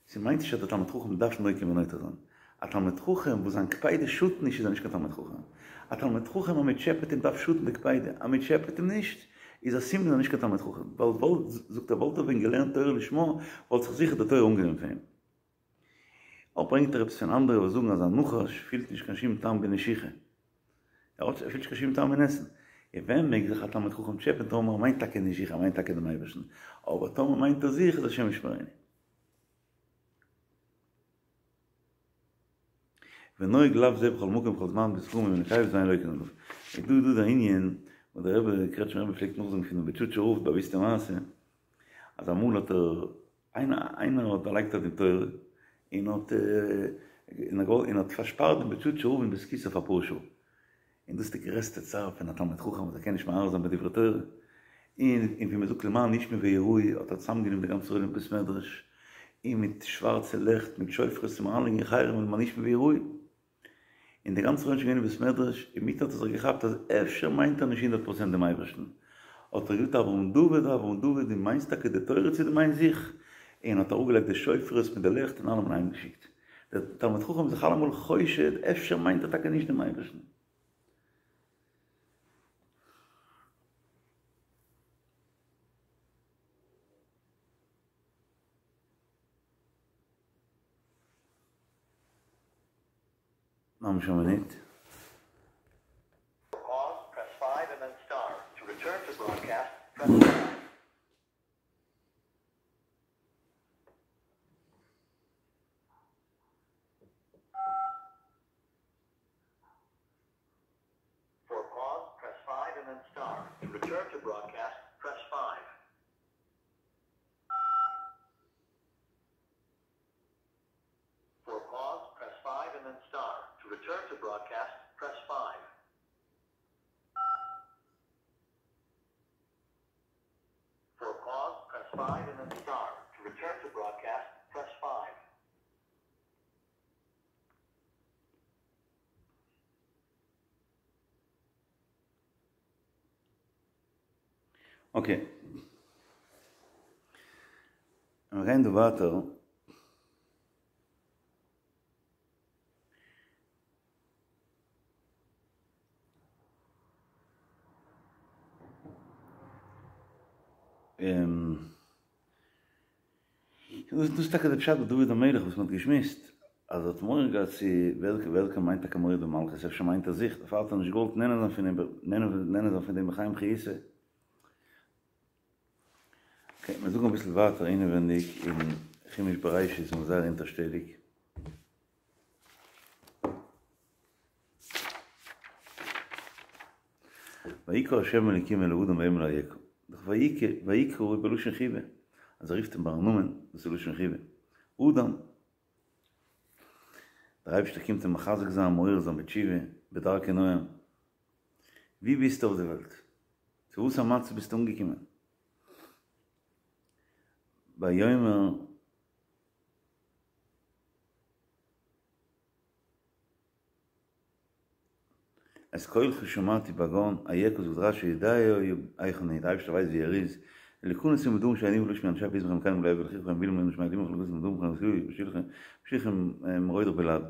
ס'מיינט נישט אז דער תלמיד חכם דארף נוקם ונוטר זיין. א תלמיד חכם וואס זיין קפידה שאדט נישט איז ער נישט קיין תלמיד חכם. א תלמיד חכם אז מ'טשעפעט אים דארף שאדן די קפידה, אז מ'טשעפעט אים נישט איז א סימן אז ער איז נישט קיין תלמיד חכם. ווייל וואלט, זאגט ער, וואלט ער ווען געלערנט תורה לשמה וואלט זיך זיכער די תורה אנגענומען פון אים. אויך ברענגט ער עפעס פון אנדערע וואס זאגן אז א נחש פילט נישט קיין שום טעם בנשיכה. ער האט ער פילט נישט קיין שום טעם אין עסן. און ווען מעג זיך א תלמיד חכם טשעפען טאמער ער מיינט טאקע נישט זיך ער מיינט טאקע דעם אייבערשטן. אבער טאמער מיינט ער זיך איז השם ישמרינו. ונוהג לאו זה בכל מקום ובכל זמן בזכרים ובנקבות ואין לוקין עליו. איז דא דא דער ענין וואס דער רבי קרעטשמער רבי פלעגט נאכזאגן פונעם בוטשאטשער רב די באוויסטע מעשה אז אמאל האט ער איינער האט באלייגט א דין תורה און האט און האט פארשפארט דעם בוטשאטשער רב אין בית הכסא אויף אפאר שעה. און דאס איז די גרעסטע צער פון א תלמיד חכם וואס ער קען נישט מהרהר זיין בדברי תורה, און און ווי מען זאגט למען ישמעו ויראו האט ער צוזאמגענומען די גאנצע עולם אין בית מדרש, און מיט שווארצע לעכט מיט שופרות און אריינלייגן אין חרם למען ישמעו ויראו, און די גאנצע עולם איז שוין געווען אין בית מדרש, אינמיטן האט ער זיך געכאפט אז אפשר מיינט ער נישט הונדערט פראצענט דעם אייבערשטן, האט ער געזאגט אברהם דוד אברהם דוד דו מיינסט טאקע די תורה צו דו מיינסט זיך? און האט אראפגעלייגט די שופרות מיט די לעכט און אלעמען אהיימגעשיקט. דער תלמיד חכם איז זיך אלעמאל חושד, אפשר מיינט ער טאקע נישט דעם אייבערשטן. ממש א מינוט. אקעי. מיר גייען דא ווייטער. דאס איז טאקע די פשט ביי דוד המלך וואס מען האט געשמועסט, אז ער האט מורא געהאט צו וועלכער מיינט טאקע מורד במלכות, אפשר מיינט ער זיך, דערפאר האט ער נישט געוואלט נהנה זיין פון אים, נהנה זיין פון דעם בחיים חיותו. אקעי, מיר זאגן אביסל ווייטער אינעווענדיג אין חומש בראשית איז מיר זייער אונטערשטעליג. ויקרא ה' אלוקים אל האדם ויאמר לו אייכה. דאך ויקרא, ויקרא איז בלשון חיבה, אז ער רופט אים ביים נאמען, דאס איז לשון חיבה. אדם, דער אייבערשטער קומט אים מחזק זיין, מעורר זיין בתשובה, בדרכי נועם. ווי ביסטו אויף די וועלט? צו וואס א מצב ביסטו אנגעקומען? ויאמר את קולך שמעתי בגן, אייכה זאגט רש"י יודע היה היכן הוא, די אייבערשטער ווייסט ווי ער איז, להכנס עמו בדברים שאין עמו לשמוע אנשי ביזמכם וכן ולא יבא לחיכם בלעם און שמע דמך לגוז מדום חם ושיחם מרוידך בלעד.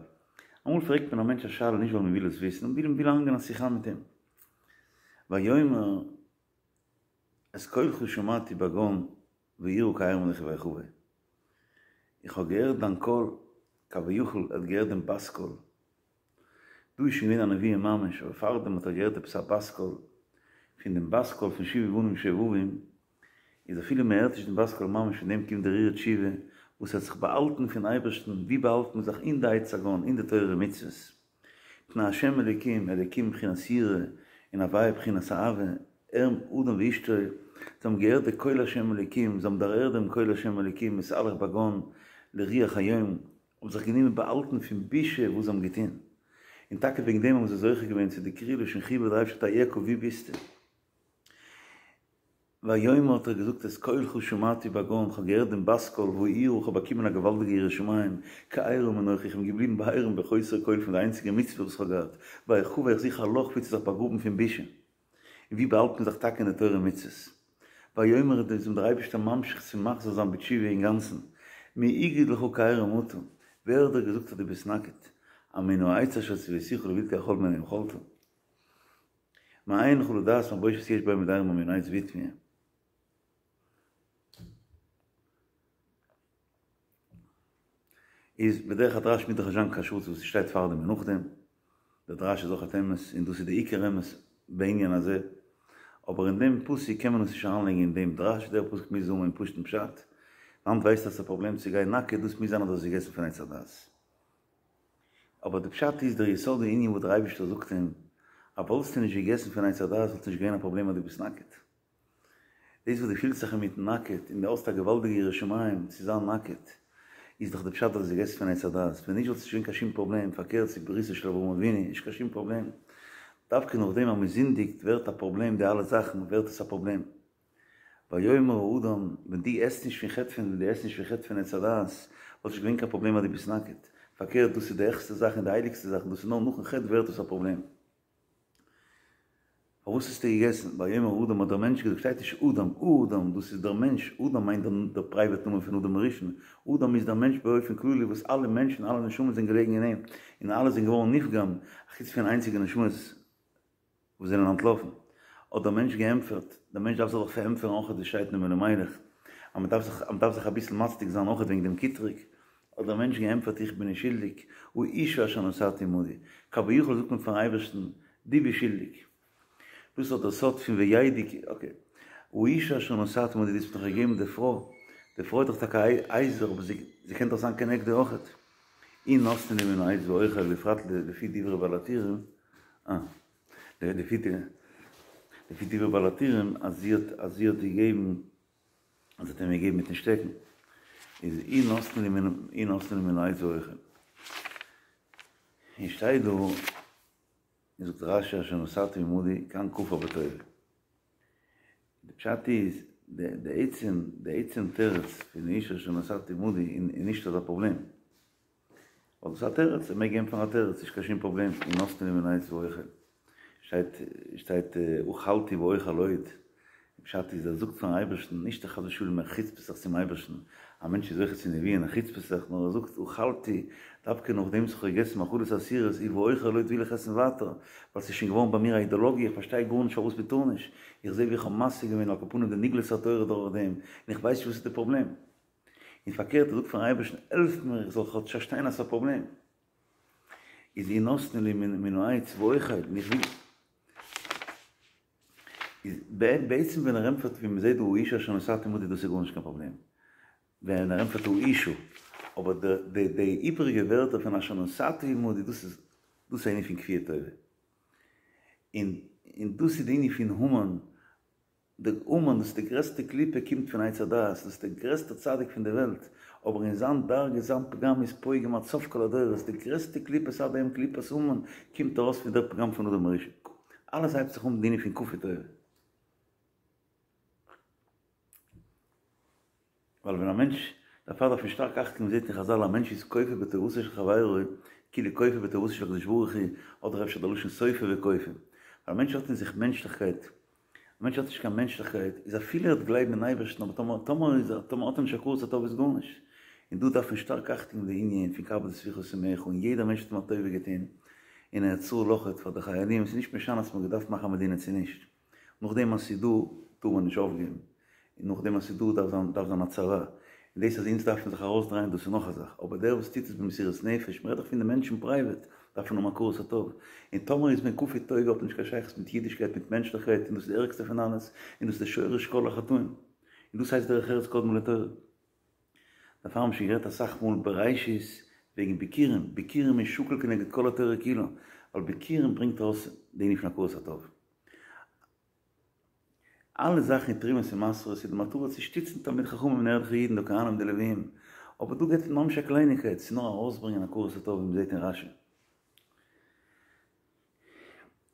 אמאל פרעגט מען א מענטש א שאלה נישט ווייל מען וויל עס וויסן, מען וויל איינגיין א שיחה מיט אים. ויאמר את קולך שמעתי בגן ויירא כי עירום אנכי ואחבא. איך האב געהערט דיין קול, כביכול ער האט געהערט דעם בת קול. דא איז שוין געווען א נבואה ממש, אבער פארדעם האט ער געהערט עפעס א בת קול. פון דעם בת קול פון שובו בנים שובבים, איז אפילו מען הערט נישט דעם בת קול ממש פון דעם קומט די הרהור תשובה, וואס האט זיך באהאלטן פון אייבערשטן, ווי באהאלט מען זיך? אין די עץ הגן, אין די תורה ומצוות. פני השם אלוקים, אלוקים בחינת יראה, און הוויה בחינת אהבה, ער, אדם ואשתו, זיי האבן געהערט די קול השם אלוקים, זיי האבן דערהערט דעם קול השם אלוקים, מתהלך בגן לרוח היום, האבן זיך גענומען באהאלטן פון בושה וואס זיי האבן געטון. און טאקע וועגן דעם האבן זיי זוכה געווען צו די קריאה לשון חיבה דער אייבערשטער אייכה וואו ביסטו? ויאמר האט ער געזאגט את קולך שמעתי בגן, כ'האב געהערט דעם בת קול ואירא, כ'האב באקומען א געוואלדיגע יראת שמים, כי עירום אנכי, איך בין געבליבן בעירום בחוסר כל פון די איינציגע מצוה וואס כ'האב געהאט, ואחבא איך זוך א לאך ווי צו זיך באגראבן פון בושה. און ווי באהאלט מען זיך טאקע אין די תורה ומצוות? ויאמר איז אים דער אייבערשטער ממשיך צו מחזיר זיין בתשובה אינגאנצן, מי הגיד לך כי עירום אתה, ווער האט דיר געזאגט אז דו ביסט נאקעט? המן העץ אשר צויתיך לבלתי אכול מן היום אכלת? מאין לך לדעת מה בושת יש בעומד עירום מן העץ והטמיע. איז בדרך הדרש מוז דאך נישט זיין קיין שרץ וואס שטייט פארדעם און נאכדעם, דער דרש איז אויך אמת און דאס איז די עיקר אמת בענין הזה, אבער אין דעם פסוק קען מען עס נישט אריינלייגן אין דעם דרש, דער פסוק מוז האבן אין פשוט'ן פשט, וואנעט ווייסטו אז ס'איז א פראבלעם צו גיין נאקעט, דאס מוז זיין אז דו האסט געגעסן פון עץ הדעת. אבער די פשט איז דער יסוד הענין וואס דער אייבערשטער זאגט אים, אז וואלסטו נישט געגעסן פון עץ הדעת וואלט נישט געווען א פראבלעם אז דו ביסט נאקעט. דאס וואס דו פילסט זיך אינמיטן נאקעט און דו האסט א געוואלדיגע יראת שמים צו זיין נאקעט, איז דאך די פשט אז דו האסט געגעסן פון עץ הדעת, ווען נישט וואלט עס נישט געווען קיין שום פראבלעם, פארקערט ס'איז בריתו של אברהם אבינו, נישט קיין שום פראבלעם. דווקא נאכדעם אז מען זינדיגט ווערט א פראבלעם די אלע זאכן ווערט עס א פראבלעם. ויאמר האדם, ווען דו עסט נישט פון חטא פון ווען דו עסט נישט פון חטא פון עץ הדעת, וואלט נישט געווען קיין פראבלעם אז דו ביסט נאקעט. פארקערט דאס איז די העכסטע זאך און די הייליגסטע זאך און דאס איז נאר נאכן חטא ווערט עס א פראבלעם. פארוואס האסטו געגעסן? ויאמר האדם האט דער מענטש געזאגט, שטייט נישט אדם, האדם, דאס איז דער מענטש, אדם מיינט דער פרייוועט נאמען פון אדם הראשון, אדם איז דער מענטש באופן כללי וואס אלע מענטשן, אלע נשמות זענען געלעגן אין אים, און אלע זענען געווארן נפגם, אחוץ פון איינציגע נשמות וואס זענען אנטלאפן. האט דער מענטש געענטפערט, דער מענטש דארף זיך דאך פארענטפערן אויך ווי שטייט אין אלימלך, אז מען דארף זיך, אז מען דארף זיך אביסל מצדיק זיין אויך וועגן דעם קטרוג, האט דער מענטש געענטפערט איך בין נישט שולדיג, האשה אשר נתת עמדי, כביכול זאגט מען פארן אייבערשטן, דו ביסט שולדיג. דאס איז דער סוד פון וידעו, אקעי, האשה אשר נתת עמדי, דו האסט מיר דאך געגעבן די פרוי, די פרוי איז דאך טאקע א עזר, אבער זי קען דאך זיין כנגדו אויכעט. היא נתנה לי מן העץ ואוכל בפרט לפי דברי בעל הטורים, אה, לפי דברי בעל הטורים אז זי האט אז זי האט געגעבן אז זי האט אים געגעבן מיטן שטעקן, איז היא נתנה לי מן היא נתנה לי מן העץ ואוכל. און שטייט דא, זאגט רש"י אשר נתת עמדי כאן כפר בטובה. די פשט איז, די עצם, די עצם תירוץ פון האשה אשר נתת עמדי איז נישט אזא פראבלעם. ווייל דאס איז א תירוץ, ער מעג ענטפערן א תירוץ, נישט קיין שום פראבלעם, היא נתנה לי מן העץ ואוכל. שטייט, שטייט אכלתי ואוכל עוד. פשט איז ער זאגט פארן אייבערשטן, נישט חס ושלום ער חוצפה'ט זיך צום אייבערשטן, א מענטש איז זוכה צו נבואה און ער חוצפה'ט זיך, נאר ער זאגט אכלתי, דווקא נאכדעם וואס איך האב געגעסן מאכלות אסורות, און ואוכל עוד וויל איך עסן ווייטער, ווייל ס'איז שוין געווארן ביי מיר א אידאלאגיע, איך פארשטיי גארנישט פארוואס מען טאר נישט, איך זע ווי איך האב משיג געווען על כל פנים די נגלות התורה דורך דעם, און איך ווייס נישט וואס איז די פראבלעם. און פארקערט ער זאגט פארן אייבערשטן העלף מיר איך זאל כאטש פארשטיין אז ס'איז א פראבלעם. איז היא נתנה לי מן העץ ואוכל, און איך וויל. איז בעצם ווען ער ענטפערט ווי מ'זעט דא האשה אשר נתת עמדי דאס איז גארנישט קיין פראבלעם. ווען ער ענטפערט האשה, אבער די די איבעריגע ווערטער פון אשר נתת עמדי דאס איז דאס איז א ענין פון כפייה טובה. און און דאס איז די ענין פון המן דער המן, דאס איז די גרעסטע קליפה קומט פון עץ הדעת, דאס איז דער גרעסטער צדיק פון די וועלט, אבער אין זיין דרגה זיין פגם איז פוגם עד סוף כל הדורות, די גרעסטע קליפות עד היום קליפת המן קומט ארויס פון דער פגם פון אדם הראשון, אלעס הייבט זיך אן מיט די ענין פון כפוי טובה. ווייל ווען א מענטש, דערפאר דארף מען שטארק אכט געבן, מ'זעט אין חזל א מענטש איז כופר בטובתו של חברו, כאילו כופר בטובתו של הקדוש ברוך הוא, אדער אפשר די לשון סופר וכופר. ווייל א מענטש האט אין זיך מענטשליכקייט, א מענטש האט נישט קיין מענטשליכקייט, איז אפילו ער וועט גלייבן אין אייבערשטן, אבער טאמער טאמער איז ער טאמער האט ער נישט הכרת הטוב איז גארנישט. און דא דארף מען שטארק אכט געבן די ענין פון כבד את אביך ואת אמך, און יעדער מענטש האט אים א טובה געטון, און ארץ ישראל אויכעט פאר די חיילים, ס'איז נישט משנה צו מ'האט געדארפט מאכן א מדינה צו נישט. נאכדעם אז ס'איז דא, טאר מען נישט אויפגעבן. און נאכדעם אז ס'איז דא, דארף זיין דארף זיין א צבא. און דאס אז אונז דארפן זיך ארויסדרייען, דאס איז נאך א זאך. אבער דער וואס טוט עס במסירות נפש, מ'רעדט דאך פון די מענטשן פרייוועט, דארף מען האבן הכרת הטוב. און טאמער איז מען כפוי טובה האט מען נישט קיין שייכות מיט אידישקייט, מיט מענטשליכקייט, און דאס איז די ערגסטע פון אלעס, און דאס איז די שורש כל החטאים. און דאס הייסט דרך ארץ קדמה לתורה. דערפאר האבן מיר שוין גערעדט אסאך מאל בראשית וועגן ביכורים, ביכורים איז שקול כנגד כל התורה כולה, ווייל ביכורים ברענגט ארויס די ענין פון הכרת הטוב. אלע זאכן אין תרומות און מעשרות איז די מטרה צו שטיצן תלמידי חכמים און ערליכע אידן די כהנים און די לוויים, אבער דא גייט ממש א קלייניגקייט, ס'איז נאר ארויסברענגען הכרת הטוב ווי מ'זעט אין רש"י.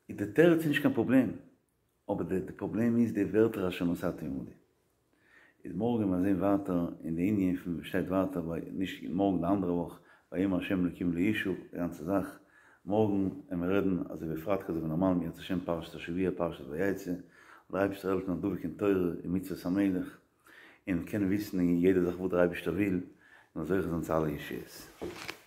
איז די תירוץ איז נישט קיין פראבלעם, אבער די פראבלעם איז די ווערטער אשר נתתי עמדי. איז מארגן וועלן מיר זען ווייטער אין די ענין פון וואס שטייט ווייטער ביי נישט מארגן די אנדערע וואך ויאמר ה' אלקים לאישה די גאנצע זאך מארגן וועלן מיר רעדן אזוי ווי פרייטאג אזוי ווי נארמאל אם ירצה השם פרשת השבוע פרשת ויצא דער אייבערשטער העלפן זיין דבוק אין תורה און מצוות המלך און קענען וויסן אין יעדע זאך וואס דער אייבערשטער וויל און זוכה זיין צו אלע ישועות.